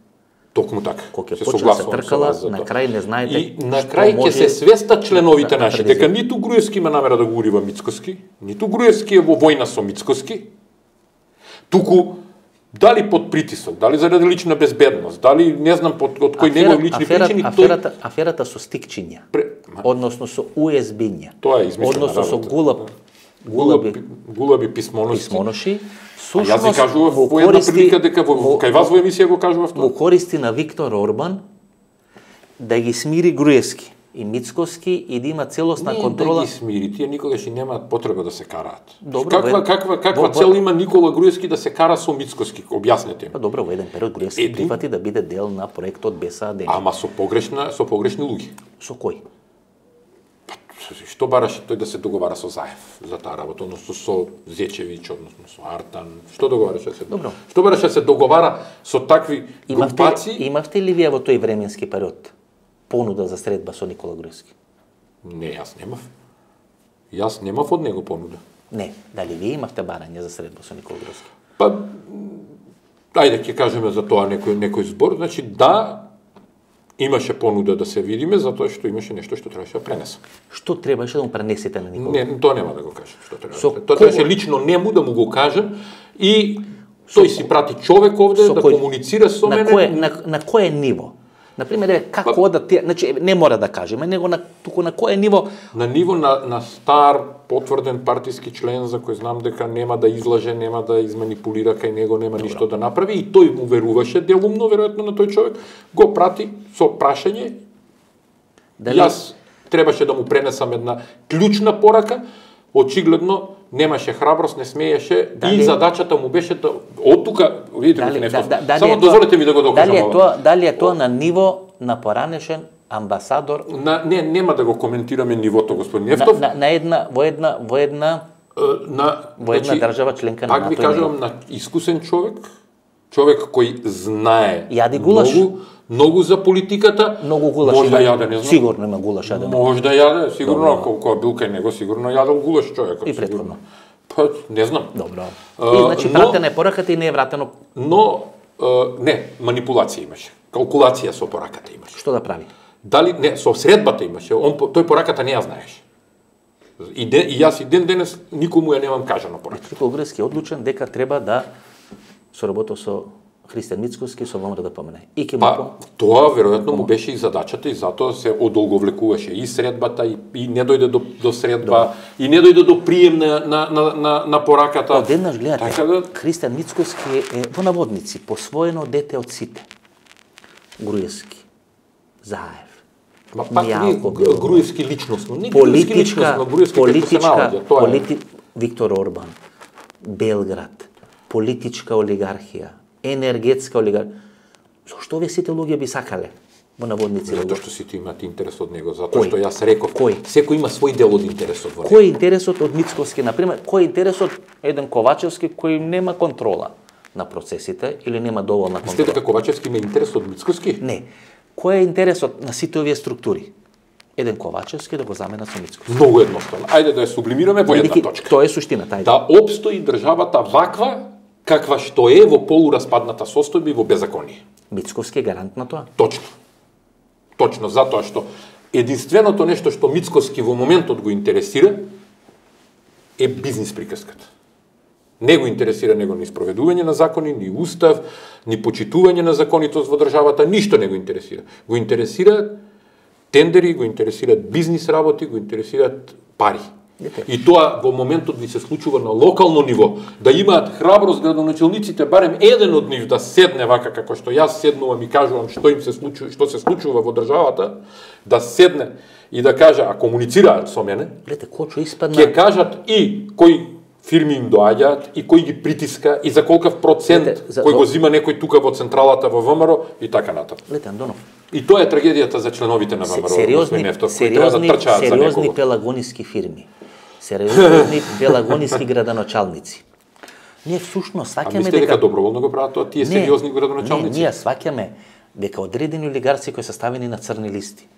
Speaker 2: Токму така.
Speaker 1: Кога ќе почне да се тркала, на крај не знаете.
Speaker 2: И на крај ќе се свестат членовите наши дека ниту Груевски има намера да го урива Мицкоски, ниту Груевски е во војна со Мицкоски, туку дали под притисок, дали заради лична безбедност, дали не знам под од кој негови лични причини,
Speaker 1: аферата, тој... аферата со стикчиња, Пре... односно со уесбиња,
Speaker 2: тоа е измислена
Speaker 1: односно
Speaker 2: работа.
Speaker 1: со гулаб,
Speaker 2: гулаби, гулаби писмоноши.
Speaker 1: писмоноши.
Speaker 2: А јас ви кажував во една прилика дека во, во кај вас во емисија го кажував тоа.
Speaker 1: Во користи на Виктор Орбан да ги смири Груевски и Мицкоски и да има целосна
Speaker 2: не,
Speaker 1: контрола.
Speaker 2: Не да ги смири, тие никогаш и немаат потреба да се караат.
Speaker 1: Добро,
Speaker 2: каква каква каква цел има Никола Груевски да се кара со Мицкоски? Објаснете ми.
Speaker 1: Па добро, во еден период Груевски Еду... прифати да биде дел на проектот Беса Адеми.
Speaker 2: Ама со погрешна со погрешни луѓе.
Speaker 1: Со кој?
Speaker 2: Што бараше тој да се договара со Заев за таа работа, односно со Зечевиќ, односно со Артан? Што договараше се?
Speaker 1: Добро.
Speaker 2: Што бараше се договара со такви
Speaker 1: Имавте,
Speaker 2: групаци?
Speaker 1: имавте ли вие во тој временски период понуда за средба со Никола Груевски?
Speaker 2: Не, јас немав. Јас немав од него понуда.
Speaker 1: Не, дали вие имавте барање за средба со Никола Груевски?
Speaker 2: Па, ајде ќе кажеме за тоа некој некој збор, значи да, имаше понуда да се видиме, затоа што имаше нешто што требаше да пренесам.
Speaker 1: Што требаше да му пренесете на Никола?
Speaker 2: Не, тоа нема да го кажам, што треба.
Speaker 1: Со
Speaker 2: Тоа требаше лично нему да му го кажам и тој си прати човек овде да
Speaker 1: кој,
Speaker 2: комуницира со
Speaker 1: на
Speaker 2: мене.
Speaker 1: Кое, на, на кое ниво? Например, еве, како па, да ти, значи не мора да кажеме, него на туку на кое ниво?
Speaker 2: На ниво на, на стар потврден партиски член за кој знам дека нема да излаже, нема да изманипулира кај него, нема Добро. Ништо да направи и тој му веруваше делумно веројатно на тој човек, го прати со прашање. Дали... Јас требаше да му пренесам една клучна порака, очигледно немаше храброст, не смееше дали... и задачата му беше да од тука, видите
Speaker 1: дали,
Speaker 2: нешто.
Speaker 1: Да, да,
Speaker 2: само дозволете ми да го докажам.
Speaker 1: Дали е тоа, дали е тоа на ниво на поранешен амбасадор?
Speaker 2: На, не, нема да го коментираме нивото, господин Ефтов.
Speaker 1: На, на, на една, во една, во една,
Speaker 2: на,
Speaker 1: во една значи, држава членка на НАТО.
Speaker 2: Пак ви кажувам, на искусен човек, човек кој знае
Speaker 1: Јади гулаш.
Speaker 2: многу, многу за политиката,
Speaker 1: многу гулаш.
Speaker 2: Може да јаде, не знам.
Speaker 1: Сигурно има гулаш јаден.
Speaker 2: Може да јаде, сигурно, ако кој бил кај него, сигурно јадел гулаш човекот.
Speaker 1: И претходно.
Speaker 2: Па, не знам.
Speaker 1: Добро. И значи
Speaker 2: но,
Speaker 1: пратена е пораката и не е вратено.
Speaker 2: Но не, манипулација имаше. Калкулација со пораката имаше.
Speaker 1: Што да прави?
Speaker 2: Дали не, со средбата имаше. Он тој пораката не ја знаеше. И, де, и јас и ден денес никому ја немам кажано пораката.
Speaker 1: Никола Груевски е одлучен дека треба да соработи со Христијан Мицкоски со ВМРО да помине. И ке
Speaker 2: па,
Speaker 1: му
Speaker 2: тоа веројатно му беше и задачата и затоа се одолговлекуваше и средбата и, и не дојде до, до средба Добре. И не дојде до прием на, на, на, на, на пораката.
Speaker 1: Одеднаш гледате,
Speaker 2: така да...
Speaker 1: Христијан Мицкоски е во наводници посвоено дете од сите. Груевски, Заев,
Speaker 2: Ма пак не Груевски личностно, не
Speaker 1: политичка,
Speaker 2: Груевски личностно, Груевски
Speaker 1: политичка,
Speaker 2: се наоѓа, тоа
Speaker 1: полити...
Speaker 2: е.
Speaker 1: Виктор Орбан, Белград, политичка олигархија, енергетска олигархија. Зошто овие сите луѓе би сакале во наводници?
Speaker 2: Затоа што сите имаат интерес од него, затоа што јас реков,
Speaker 1: кој?
Speaker 2: Секој има свој дел од интересот во него.
Speaker 1: Кој е интересот од Мицкоски, например, кој е интересот еден Ковачевски кој нема контрола на процесите или нема доволна контрола?
Speaker 2: Мислите дека Ковачевски има интерес од Мицкоски?
Speaker 1: Не. Кој е интересот на сите овие структури? Еден Ковачевски да го заменат со Мицкоски.
Speaker 2: Многу едноставно. Ајде да ја сублимираме во една точка.
Speaker 1: Тоа е суштината, ајде.
Speaker 2: Да опстои државата ваква каква што е во полураспадната состојба и во беззаконие.
Speaker 1: Мицкоски е гарант на тоа?
Speaker 2: Точно. Точно, затоа што единственото нешто што Мицкоски во моментот го интересира е бизнис приказката. Не го интересира него ни спроведување на закони, ни устав, ни почитување на законитост во државата, ништо не го интересира. Го интересира тендери, го интересираат бизнис работи, го интересираат пари. И тоа во моментот ви се случува на локално ниво, да имаат храброст градоначелниците, барем еден од нив да седне вака како што јас седнувам и кажувам што им се случува, што се случува во државата, да седне и да каже, а комуницираат со мене,
Speaker 1: Гледате, Кочо испадна...
Speaker 2: ќе кажат и кои фирми им доаѓаат и кој ги притиска и за колкав процент Лете, за... кој го зима некој тука во централата во ВМРО и така натаму.
Speaker 1: Гледате, Андонов.
Speaker 2: И тоа е трагедијата за членовите на ВМРО.
Speaker 1: Сериозни,
Speaker 2: Нефтов,
Speaker 1: сериозни,
Speaker 2: да
Speaker 1: сериозни пелагониски фирми. Сериозни пелагониски градоначалници. Ние всушност сваќаме дека...
Speaker 2: А мислите дека доброволно го прават тоа тие сериозни градоначалници?
Speaker 1: Не, ние сваќаме дека одредени олигарци кои се ставени на црни листи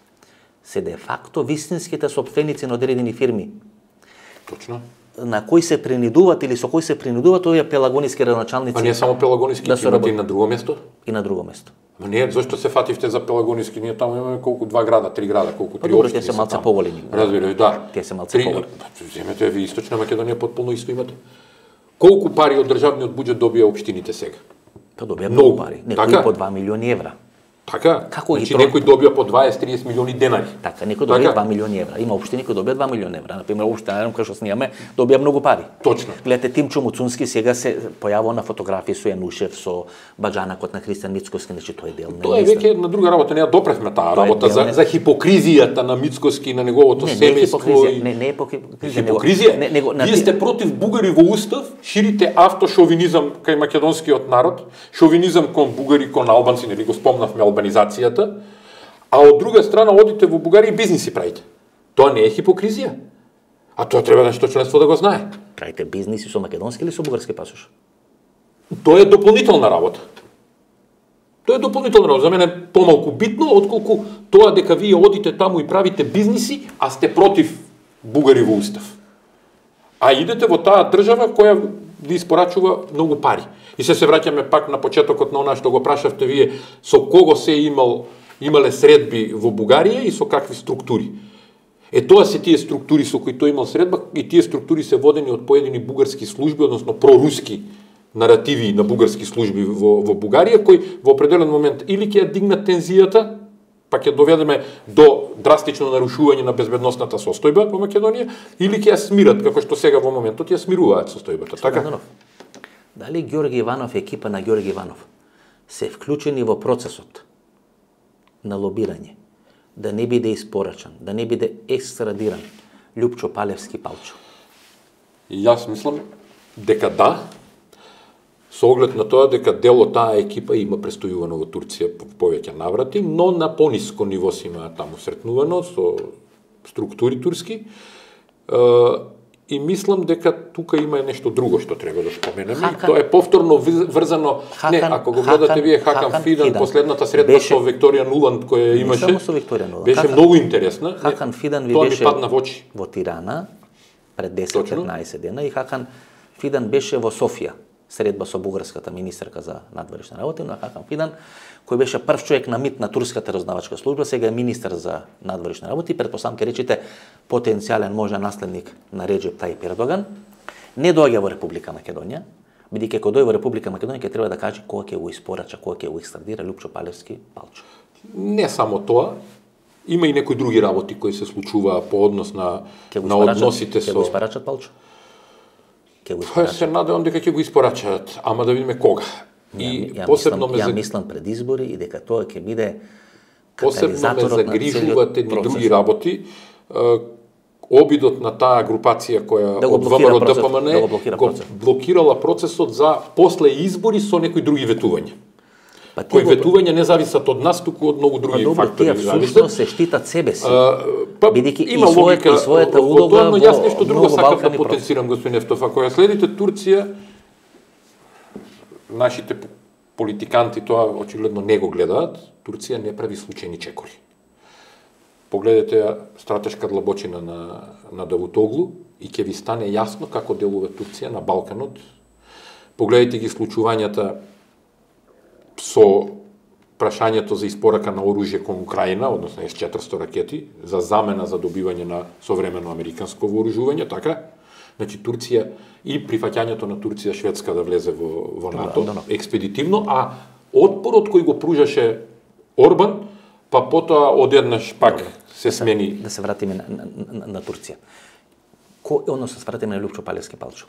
Speaker 1: се де факто вистинските сопственици на одредени фирми.
Speaker 2: Точно.
Speaker 1: На кои се принудуваат или со кои се принудуваат овие пелагониски градоначалници.
Speaker 2: А не само пелагониски, да имате и на друго место?
Speaker 1: И на друго место.
Speaker 2: Ма не, зашто се фативте за пелагониски? Ние таму имаме колку два града, три града, колку три
Speaker 1: општини.
Speaker 2: општини.
Speaker 1: Те се малце поголеми.
Speaker 2: Разбираш, да.
Speaker 1: Те се малце поголеми.
Speaker 2: Земете ви Источна Македонија потполно исто имате. Колку пари од државниот буџет добија општините сега?
Speaker 1: Па добија многу пари. Некои
Speaker 2: така?
Speaker 1: По два милиони евра.
Speaker 2: Така?
Speaker 1: Како
Speaker 2: значи,
Speaker 1: ги
Speaker 2: некој добија по дваесет до триесет милиони денари.
Speaker 1: Така, некој добија два милиони евра. Има општини кои добија два милиони евра. Например, општина кај што снимаме добија многу пари.
Speaker 2: Точно.
Speaker 1: Гледате, Тимчо Муцунски сега се појавува на фотографии со Јанушев, со баџанакот на Христијан Мицкоски, значи тоа е дел на
Speaker 2: Тоа е веќе една друга работа, не ја допревме таа работа за, за хипокризијата на Мицкоски и на неговото
Speaker 1: не,
Speaker 2: семејство.
Speaker 1: Не, не, не е хипокризија.
Speaker 2: Хипокризија?
Speaker 1: Не, него,
Speaker 2: Вие сте против бугари во устав, ширите автошовинизам кај македонскиот народ, шовинизам кон бугари, кон албанци, нели го спомнавме албанизацијата, а од друга страна одите во Бугарија и бизниси правите. Тоа не е хипокризија. А тоа треба нешто членство да го знае.
Speaker 1: Правите бизниси со македонски или со бугарски пасош?
Speaker 2: Тоа е дополнителна работа. Тоа е дополнителна работа. За мене е помалку битно, отколку тоа дека вие одите таму и правите бизниси, а сте против бугари во устав. А идете во таа држава која ви испорачува многу пари. И се се враќаме пак на почетокот на она што го прашавте вие, со кого се имал имале средби во Бугарија и со какви структури. Е тоа се тие структури со кои тој имал средба и тие структури се водени од поедини бугарски служби, односно проруски наративи на бугарски служби во, во Бугарија, кои во определен момент или ќе ја дигнат тензијата, па ќе доведеме до драстично нарушување на безбедносната состојба во Македонија, или ќе ја смират, како што сега во моментот ја смируваат состојбата. Така?
Speaker 1: Дали Ѓорги Иванов и екипа на Ѓорги Иванов се вклучени во процесот на лобирање, да не биде испорачан, да не биде екстрадиран Љупчо Палевски Палчо?
Speaker 2: И јас мислам дека да, со оглед на тоа дека дел од таа екипа има престојувано во Турција по повеќе наврати, но на пониско ниво се има таму сретнувано со структури турски. И мислам дека тука има нешто друго што треба да споменеме. Хакан, тоа е повторно врзано. Хакан, не, ако го гледате Хакан, вие Хакан, Хакан Фидан, Фидан, последната средба беше, со Викторија Нуланд која имаше,
Speaker 1: не само со Викторија Нуланд,
Speaker 2: беше
Speaker 1: Хакан,
Speaker 2: многу интересна.
Speaker 1: Хакан Фидан ви
Speaker 2: тоа
Speaker 1: беше
Speaker 2: ми падна во очи
Speaker 1: во Тирана пред десет-петнаесет дена и Хакан Фидан беше во Софија, средба со бугарската министерка за надворешни работи, но Хакан Фидан, кој беше прв човек на МИТ на турската разузнавачка служба, сега е министер за надворешни работи, претпоставам ќе речете потенцијален можен наследник на Реџеп Тајип Ердоган, не доаѓа во Република Македонија, бидејќи кога дојде во Република Македонија ќе треба да каже кога ќе го испорача, кога ќе го екстрадира Љупчо Палевски Палчо.
Speaker 2: Не само тоа, има и некои други работи кои се случуваа по однос на на односите со.
Speaker 1: Ќе го испорачат Палчо?
Speaker 2: Ќе го испорачат. Се надевам дека ќе го испорачат, ама да видиме кога. И
Speaker 1: ја, ја
Speaker 2: посебно
Speaker 1: мислам,
Speaker 2: ме
Speaker 1: ја мислам пред избори и дека тоа ќе биде
Speaker 2: посебно ме загрижуваат едни други работи. Обидот на таа групација која
Speaker 1: да
Speaker 2: од ВМРО ДПМН
Speaker 1: да го, блокира
Speaker 2: го блокирала процесот за после избори со некои други ветувања. Па кои го... ветувања не зависат од нас, туку од многу други
Speaker 1: па, добро,
Speaker 2: фактори.
Speaker 1: Тие всушност се штитат себе си.
Speaker 2: Па,
Speaker 1: бидејќи
Speaker 2: има
Speaker 1: и својата, и својата улога
Speaker 2: во, но јас нешто друго сакам да
Speaker 1: Балкани
Speaker 2: потенцирам, господин Ефтов. Ако ја следите Турција, нашите политиканти тоа очигледно не го гледаат, Турција не прави случајни чекори. Погледнете стратешка длабочина на, на Давутоглу и ќе ви стане јасно како делува Турција на Балканот. Погледнете ги случувањата со прашањето за испорака на оружје кон Украина, односно Ес четиристо ракети, за замена за добивање на современо американско вооружување, така? Значи Турција и прифаќањето на Турција Шведска да влезе во, во НАТО, да, да, да. експедитивно, а отпорот кој го пружаше Орбан, па потоа одеднаш пак Добре. се смени.
Speaker 1: Да се вратиме на, на, на, на Турција. Ко, односно се вратиме на Љупчо Палевски Палчо.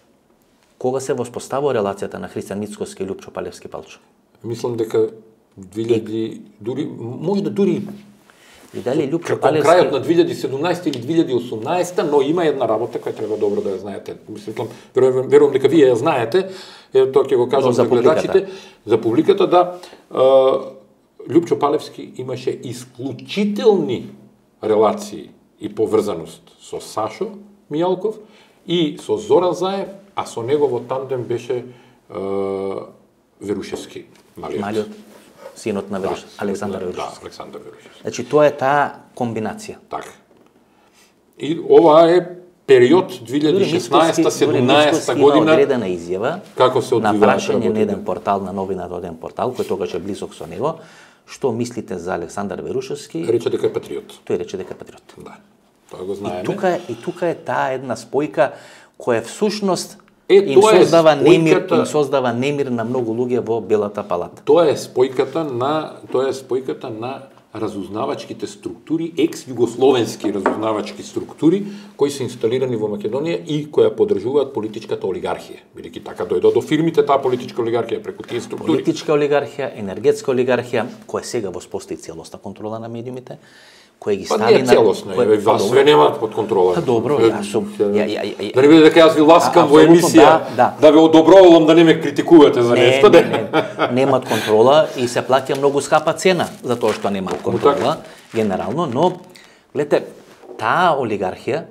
Speaker 1: Кога се воспоставува релацијата на Христијан Мицкоски и Љупчо Палевски Палчо?
Speaker 2: Мислам дека две илјади, дури, може да дури
Speaker 1: и дали Љупчо
Speaker 2: како
Speaker 1: Палевски...
Speaker 2: крајот на две илјади и седумнаесета или две илјади и осумнаесета, но има една работа која треба добро да ја знаете. Мислам, верувам, верувам дека вие ја знаете, е, тоа ќе го кажам за гледачите, за публиката, да. Љупчо Палевски имаше исклучителни релации и поврзаност со Сашо Мијалков и со Зоран Заев, а со негово тандем беше е, Верушевски, малиот.
Speaker 1: Малиот, синот на Верушевски, да, Александар Верушевски.
Speaker 2: Да, Александар Верушевски.
Speaker 1: Значи, тоа е таа комбинација.
Speaker 2: Така. И ова е период две илјади и шеснаесета седумнаесета година.
Speaker 1: Има одредена изјава
Speaker 2: како се
Speaker 1: на прашање на еден портал, на новината од еден портал, кој тогаш е близок со него, што мислите за Александар Верушевски?
Speaker 2: Рече дека е патриот.
Speaker 1: Тој рече дека е патриот.
Speaker 2: Да. Тоа го знаеме.
Speaker 1: И тука е, и тука е таа една спојка која всушност
Speaker 2: е,
Speaker 1: им создава
Speaker 2: спојката...
Speaker 1: немир, им создава немир на многу луѓе во Белата палата.
Speaker 2: Тоа е спојката на тоа е спојката на разузнавачките структури, екс-југословенски разузнавачки структури, кои се инсталирани во Македонија и која поддржуваат политичката олигархија. Бидејќи така дојде до фирмите таа политичка олигархија преку тие структури.
Speaker 1: Политичка олигархија, енергетска олигархија, која сега воспостави целосна контрола на медиумите, кој ги стави на...
Speaker 2: Па не целосно, кој... е, вас све немаат под контрола.
Speaker 1: Па добро, јас сум...
Speaker 2: Ја, ја, ја, да не биде дека јас ви ласкам во емисија, да, да. да ве одобровувам да не ме критикувате за нешто.
Speaker 1: Не, не, не, немат контрола и се плаќа многу скапа цена за тоа што немаат контрола, генерално, но, гледате, таа олигархија,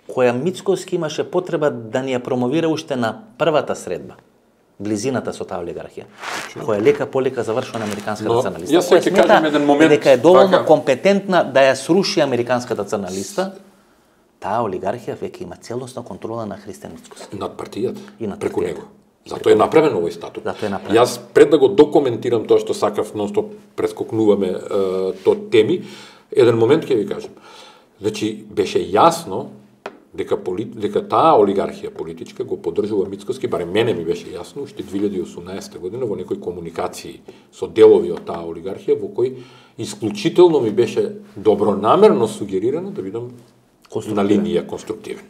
Speaker 1: која Мицкоски имаше потреба да ни ја промовира уште на првата средба, близината со таа олигархија, која лека полека завршува на американската
Speaker 2: Но,
Speaker 1: црна листа.
Speaker 2: јас сега ќе кажам еден момент,
Speaker 1: дека е доволно
Speaker 2: така,
Speaker 1: компетентна да ја сруши американската црна листа, таа олигархија веќе има целосна контрола на Христијан Мицкоски.
Speaker 2: над партијата,
Speaker 1: И над
Speaker 2: преку
Speaker 1: партијата.
Speaker 2: него. Зато е направен овој статут.
Speaker 1: Зато е направен.
Speaker 2: Јас пред да го документирам тоа што сакав, нонстоп прескокнуваме е, то теми, еден момент ќе ви кажам. Значи, беше јасно дека, поли, дека таа олигархија политичка го поддржува Мицкоски, барем мене ми беше јасно, уште две илјади и осумнаесета година во некои комуникации со делови од таа олигархија, во кој исклучително ми беше добронамерно сугерирано да бидам на линија конструктивен.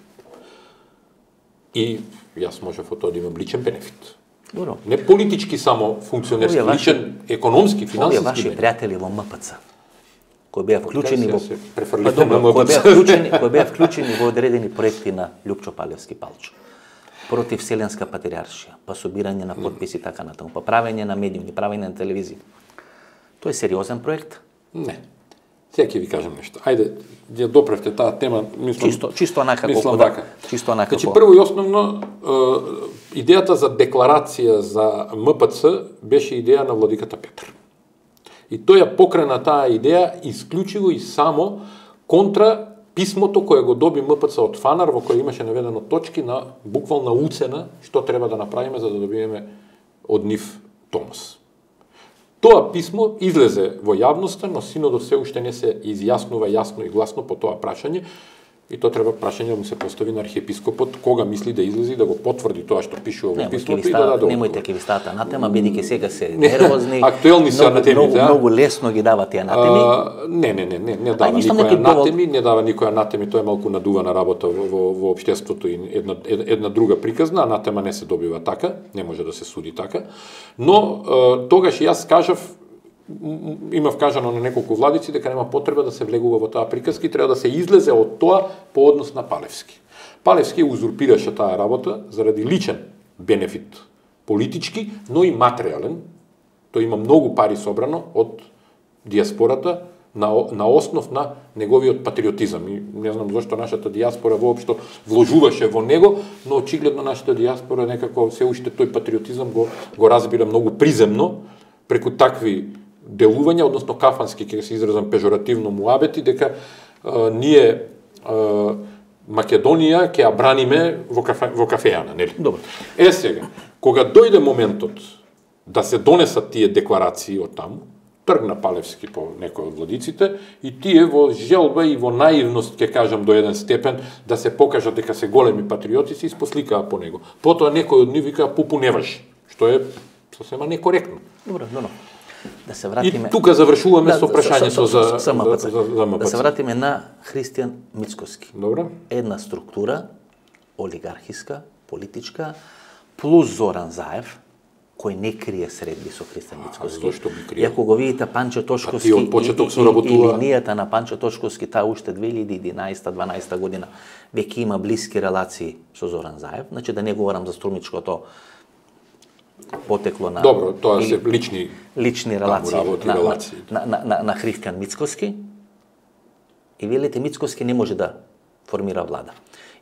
Speaker 2: И јас можев од тоа да имам личен бенефит.
Speaker 1: Добро.
Speaker 2: Не политички само функционерски,
Speaker 1: Овие ваши-
Speaker 2: личен, економски,
Speaker 1: Овие
Speaker 2: финансиски
Speaker 1: ваши
Speaker 2: бенефит.
Speaker 1: пријатели во М П Ц, кои беа вклучени во
Speaker 2: Сега се префрлите
Speaker 1: Па добро,
Speaker 2: на
Speaker 1: кои беа
Speaker 2: М П Ц.
Speaker 1: вклучени, кои беа вклучени во одредени проекти на Лјупчо Палевски Палчо, против Вселенска патриаршија, па собирање на потписи така натаму, па правење на медиуми, правење на телевизија. Тоа е сериозен проект.
Speaker 2: Не. Сега ќе ви кажам нешто. Ајде, ја допревте таа тема, мислам.
Speaker 1: Чисто, чисто онака
Speaker 2: мислам
Speaker 1: колку да,
Speaker 2: вака.
Speaker 1: чисто онака
Speaker 2: Значи,
Speaker 1: колку.
Speaker 2: прво и основно, е, идејата за декларација за М П Ц беше идеја на владиката Петар. И тој ја покрена таа идеја исклучиво и само контра писмото кое го доби М П Ц од Фанар, во кој имаше наведено точки на буквална уцена што треба да направиме за да добиеме од нив томос. Тоа писмо излезе во јавноста, но синодот се уште не се изјаснува јасно и гласно по тоа прашање, и тоа треба прашање да му се постави на архиепископот, кога мисли да излезе и да го потврди тоа што пишува во
Speaker 1: Немојте
Speaker 2: писмото
Speaker 1: ви
Speaker 2: и да
Speaker 1: стават,
Speaker 2: даде
Speaker 1: немојте
Speaker 2: одговор.
Speaker 1: ќе ви стават анатема, бидејќи сега се нервозни.
Speaker 2: Актуелни се
Speaker 1: многу-
Speaker 2: анатемите,
Speaker 1: многу,
Speaker 2: а?
Speaker 1: многу лесно ги дават тие анатеми.
Speaker 2: А, не, не, не, не, не дава
Speaker 1: ништо
Speaker 2: никој
Speaker 1: некој повод.
Speaker 2: анатеми, не дава никој анатеми, тоа е малку надувана работа во, во, во општеството и една, една друга приказна, анатема не се добива така, не може да се суди така, но е, тогаш јас кажав, м, имав кажано на неколку владици дека нема потреба да се влегува во таа приказка и треба да се излезе од тоа по однос на Палевски. Палевски узурпираше таа работа заради личен бенефит политички, но и материјален. Тој има многу пари собрано од диаспората на, на основ на неговиот патриотизам. И не знам зашто нашата диаспора воопшто вложуваше во него, но очигледно нашата диаспора некако се уште тој патриотизам го, го разбира многу приземно преку такви делувања, односно кафански, ќе се изразам пежоративно муабети, дека а, ние а, Македонија ќе ја браниме во, кафе, во кафејана, нели?
Speaker 1: Добро.
Speaker 2: Е сега, кога дојде моментот да се донесат тие декларации од таму, тргна Палевски по некои од владиците и тие во желба и во наивност, ќе кажам до еден степен, да се покажат дека се големи патриоти, се испосликаа по него. Потоа некој од нив вика пупу не важи, што е сосема некоректно.
Speaker 1: Добро, добро. Да се
Speaker 2: И
Speaker 1: вратиме.
Speaker 2: тука завршуваме
Speaker 1: Да,
Speaker 2: со прашањето за, за,
Speaker 1: за М П Ц.
Speaker 2: за, за М П Ц.
Speaker 1: Да се вратиме на Христијан Мицкоски.
Speaker 2: Добро.
Speaker 1: Една структура, олигархиска, политичка, плюс Зоран Заев, кој не крие средби со Христијан Мицкоски.
Speaker 2: зошто би криел?
Speaker 1: И ако го видите Панчо Тошковски
Speaker 2: А тие од почеток со
Speaker 1: и, и, и
Speaker 2: работува.
Speaker 1: линијата на Панчо Тошковски, таа уште две илјади и единаесета-дванаесета година веќе има блиски релации со Зоран Заев. Значи да не говорам за струмичкото потекло на
Speaker 2: Добро, тоа
Speaker 1: или
Speaker 2: се лични
Speaker 1: лични релации
Speaker 2: работи,
Speaker 1: на, на,
Speaker 2: релации.
Speaker 1: на, на, на, на Христијан Мицкоски. И велите Мицкоски не може да формира влада.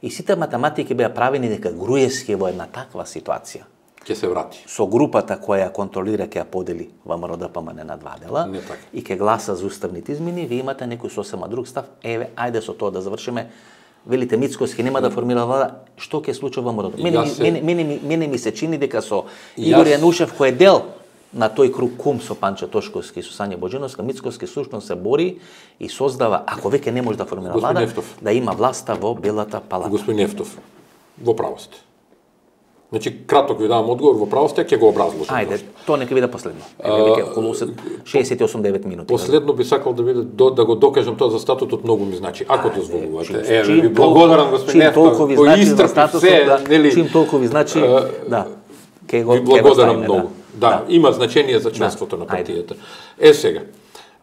Speaker 1: И сите математики беа правени дека Груевски во една таква ситуација
Speaker 2: ќе се врати.
Speaker 1: со групата која ја контролира, ќе ја подели во М Р Д П М Н на два дела
Speaker 2: Не така.
Speaker 1: и ќе гласа за уставните измени, ви имате некој сосема друг став. Еве, ајде со тоа да завршиме. Велите Мицкоски нема да формира влада, што ќе случи во М Р Д П? Мене,
Speaker 2: Јас
Speaker 1: ми-
Speaker 2: се-
Speaker 1: мене, мене, ми- мене ми се чини дека со
Speaker 2: Јас-
Speaker 1: Игор Јанушев, кој е дел на тој круг кум со Панчо Тошковски и со Сања Боџиновска, Мицкоски сушно се бори и создава, ако веќе не може да формира
Speaker 2: Господин
Speaker 1: влада,
Speaker 2: Нефтов.
Speaker 1: да има власта во Белата палата.
Speaker 2: Господин Нефтов, во право сте. Значи, краток ви давам одговор, во право сте, ќе го образложам.
Speaker 1: Ајде, тоа нека биде последно. Еве веќе околу шеесет и осум до девет минути.
Speaker 2: Последно би сакал да биде до, да го докажам тоа за статутот, многу ми значи. Ако
Speaker 1: Ајде,
Speaker 2: дозволувате.
Speaker 1: чим-
Speaker 2: Еве,
Speaker 1: чим
Speaker 2: ви
Speaker 1: толку-
Speaker 2: благодарам, господин
Speaker 1: чим
Speaker 2: Нефтов,
Speaker 1: толку ви
Speaker 2: го
Speaker 1: значи за
Speaker 2: истрпи
Speaker 1: статусот,
Speaker 2: се,
Speaker 1: да,
Speaker 2: нели?
Speaker 1: чим толку ви значи,
Speaker 2: Е,
Speaker 1: да. Ке го
Speaker 2: Ви
Speaker 1: ке го
Speaker 2: благодарам
Speaker 1: ставиме,
Speaker 2: многу. Да,
Speaker 1: Да.
Speaker 2: има значење за членството на
Speaker 1: Ајде.
Speaker 2: партијата. Е сега,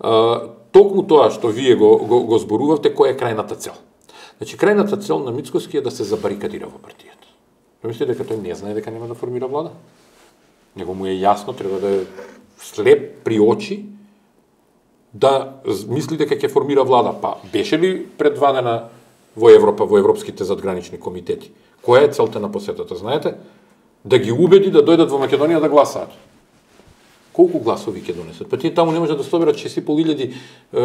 Speaker 2: а, токму тоа што вие го, го, го зборувавте, која е крајната цел? Значи, крајната цел на Мицкоски е да се забарикадира во партијата. Мислите дека тој не знае дека нема да формира влада? Него му е јасно, треба да е слеп при очи да мисли дека ќе формира влада. Па беше ли предвадена во Европа, во европските задгранични комитети? Која е целта на посетата, знаете? Да ги убеди да дојдат во Македонија да гласаат. Колку гласови ќе донесат? Па тие таму не може да соберат шест и пол илјади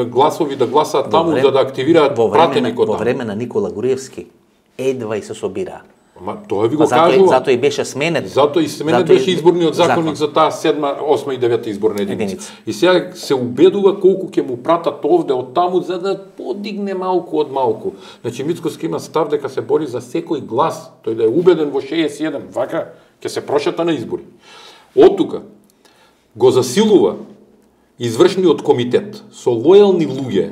Speaker 2: гласови да гласаат таму
Speaker 1: време,
Speaker 2: за да активираат пратеник од таму.
Speaker 1: Во време на Никола Груевски едва и се собира.
Speaker 2: Ма тоа ви го
Speaker 1: затоа,
Speaker 2: кажувам.
Speaker 1: Затоа и беше сменет.
Speaker 2: Затоа и сменет беше изборниот законник закон. За таа седма, осма и девета изборна единица. единица. И сега се убедува колку ќе му пратат овде од таму за да подигне малку од малку. Значи Мицкоски има став дека се бори за секој глас, тој да е убеден во шеесет и еден, вака ќе се прошета на избори. Од тука го засилува извршниот комитет со лојални луѓе,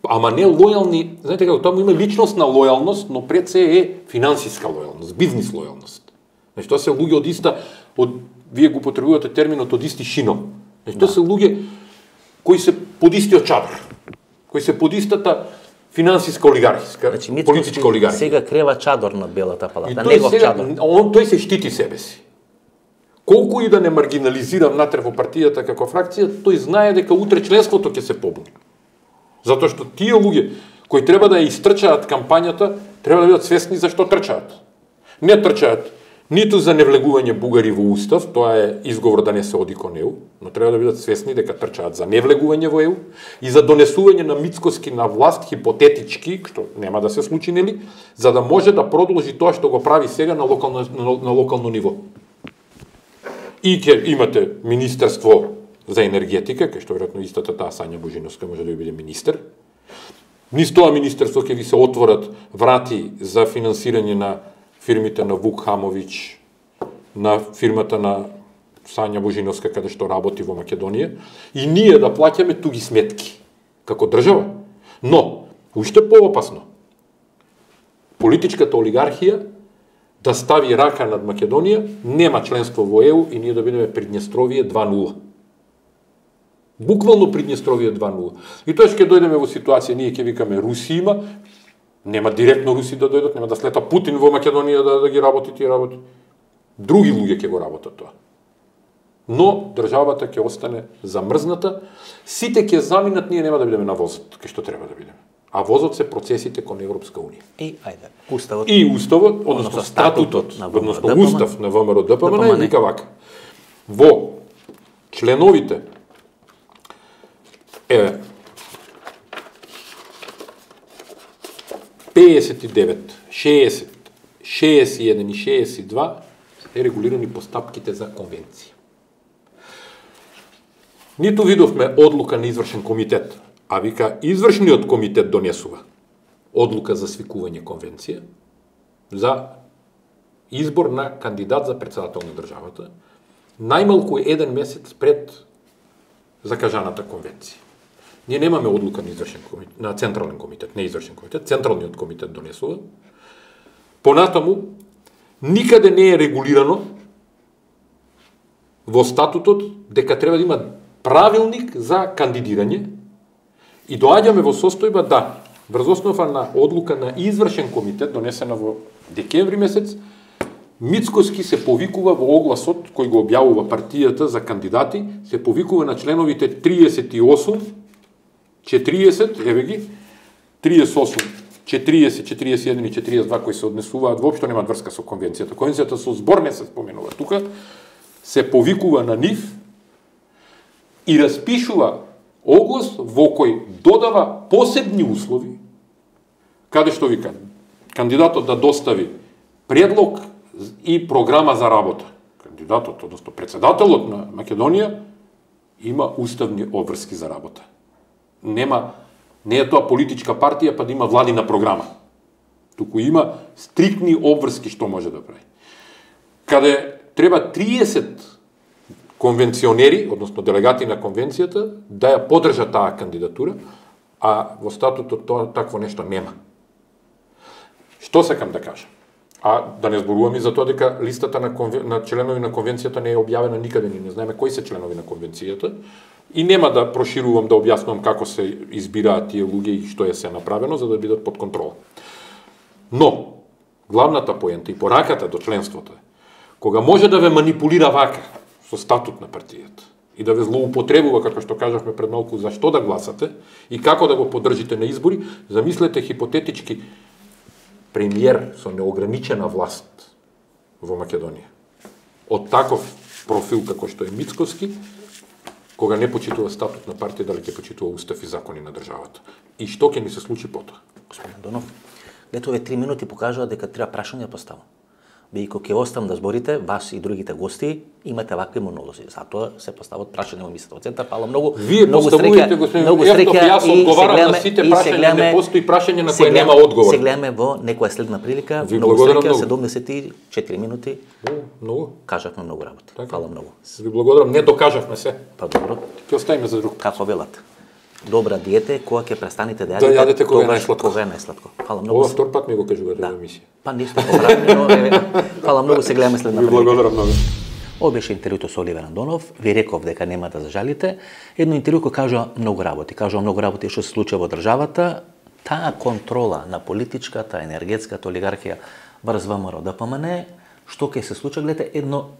Speaker 2: ама не лојални, знаете како, таму има личностна лојалност, но пред се е финансиска лојалност, бизнис лојалност. Значи тоа се луѓе од иста, од вие го потребувате терминот од исти шино. Значи тоа да. Се луѓе кои се под истиот чадар, кои се под истата финансиска олигархиска, значи, политичка олигархија.
Speaker 1: Сега крива чадор над Белата палата, негов
Speaker 2: сега,
Speaker 1: чадор.
Speaker 2: Он тој се штити себе си. Колку и да не маргинализира внатре во партијата како фракција, тој знае дека утре членството ќе се побуни. Затоа што тие луѓе кои треба да ја истрчаат кампањата, треба да бидат свесни зашто трчаат. Не трчаат ниту за невлегување бугари во устав, тоа е изговор да не се оди кон Е У, но треба да бидат свесни дека трчаат за невлегување во Е У и за донесување на Мицкоски на власт хипотетички, што нема да се случи, нели, за да може да продолжи тоа што го прави сега на локално на, на локално ниво. И ќе имате Министерство за енергетика, кај што веројатно истата таа Сања Божиновска може да биде министер. Низ тоа министерство ќе ви се отворат врати за финансирање на фирмите на Вук Хамович, на фирмата на Сања Божиновска каде што работи во Македонија, и ние да плаќаме туги сметки како држава. Но уште поопасно, политичката олигархија да стави рака над Македонија, нема членство во Е У и ние да бидеме Приднестровие два нула. Буквално Приднестровие два нула. И тоа ќе дојдеме во ситуација, ние ќе викаме Руси има, нема директно Руси да дојдат, нема да слета Путин во Македонија да, да ги работи тие работи. Други луѓе ќе го работат тоа. Но државата ќе остане замрзната, сите ќе заминат, ние нема да бидеме на возот, кај што треба да бидеме. А возот се процесите кон Европска унија.
Speaker 1: И ајде, уставот.
Speaker 2: И уставот, односно статутот, односно устав на Вэ Ем Р Д П М Н вика вака. Во членовите е педесет и девет, шеесет, шеесет и еден и шеесет и два е регулирани постапките за конвенција. Ниту видовме одлука на извршен комитет, а вика извршниот комитет донесува одлука за свикување конвенција за избор на кандидат за председател на државата, најмалку еден месец пред закажаната конвенција. Ние немаме одлука на извршен комитет, на централен комитет, не извршен комитет, централниот комитет донесува. Понатаму, никаде не е регулирано во статутот дека треба да има правилник за кандидирање и доаѓаме во состојба да, врз основа на одлука на извршен комитет, донесена во декември месец, Мицкоски се повикува во огласот кој го објавува партијата за кандидати, се повикува на членовите триесет и осум, четириесет, еве ги, триесет и осум, четириесет, четириесет и еден и четириесет и два кои се однесуваат, воопшто немаат врска со конвенцијата. Конвенцијата со збор не се споменува тука, се повикува на нив и распишува оглас во кој додава посебни услови, каде што вика, кандидатот да достави предлог и програма за работа. Кандидатот, односно председателот на Македонија, има уставни обврски за работа. Нема, не е тоа политичка партија па да има владина програма. Туку има стриктни обврски што може да прави. Каде треба триесет конвенционери, односно делегати на конвенцијата, да ја поддржат таа кандидатура, а во статутот тоа такво нешто нема. Што сакам да кажам? А да не зборувам и за тоа дека листата на, конвен... на членови на конвенцијата не е објавена никаде, ни не знаеме кои се членови на конвенцијата, и нема да проширувам, да објаснувам како се избираат тие луѓе и што е се направено за да бидат под контрола. Но главната поента и пораката до членството е кога може да ве манипулира вака со статут на партијата и да ве злоупотребува, како што кажавме пред малку, за што да гласате и како да го поддржите на избори, замислете хипотетички премиер со неограничена власт во Македонија. Од таков профил како што е Мицкоски, кога не почитува статут на партија, дали ќе почитува устав и закони на државата. И што ќе ни се случи потоа?
Speaker 1: Господин Донов, дето овие три минути покажува дека треба прашање да поставам. Бидејќи ќе оставам да зборите, вас и другите гости имате вакви монолози. Затоа се постават прашања во емисијата во центар. Фала многу.
Speaker 2: Вие
Speaker 1: многу
Speaker 2: поставувате, господин Јевтов, јас одговарам на сите прашања, не постои прашање на кое нема одговор.
Speaker 1: Се гледаме во некоја следна прилика.
Speaker 2: Ви
Speaker 1: многу
Speaker 2: благодарам
Speaker 1: среќа,
Speaker 2: многу.
Speaker 1: седумдесет и четири минути.
Speaker 2: Многу.
Speaker 1: Кажавме многу работа.
Speaker 2: Така.
Speaker 1: Фала многу.
Speaker 2: Ви благодарам, не докажавме се.
Speaker 1: Па добро.
Speaker 2: Ќе оставиме за друг.
Speaker 1: Како велат? Добра диета е кога ќе престанете да
Speaker 2: Да
Speaker 1: јадете,
Speaker 2: јадете кога е
Speaker 1: тогаш
Speaker 2: најсладко.
Speaker 1: Кога е најсладко. Фала многу.
Speaker 2: Ова втор пат ми го кажувате
Speaker 1: Да.
Speaker 2: во емисија.
Speaker 1: Па ништо поправено, но еве, фала многу, се гледаме следна
Speaker 2: Ви
Speaker 1: прилика.
Speaker 2: благодарам многу.
Speaker 1: Ова беше интервјуто со Оливер Андонов. Ви реков дека нема да зажалите. Едно интервју кој кажува многу работи. Кажува многу работи што се случува во државата. Таа контрола на политичката, енергетската олигархија врз ВМРО Д П М Н, што ќе се случи, гледате, едно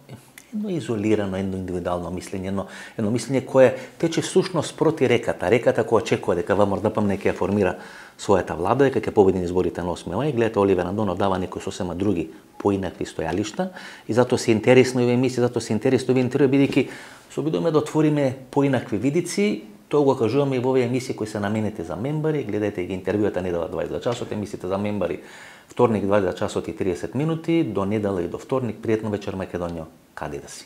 Speaker 1: едно изолирано, едно индивидуално мислење, едно, едно мислење кое тече всушност проти реката. Реката која очекува дека ВМРО Д П М Н ќе формира својата влада, дека ќе победи на изборите на осми мај. Гледате, Оливер Андонов дава некои сосема други поинакви стојалишта и затоа се интересно овие емисии, затоа се интересно овие интервјуи, бидејќи се обидуваме да отвориме поинакви видици. Тоа го кажуваме и во овие емисии кои се наменети за мембари. Гледате ги интервјуата недела дваесет часот, емисиите за мембари вторник дваесет часот и тридесет минути, до недела и до вторник. Пријатно вечер, Македонија, каде да си.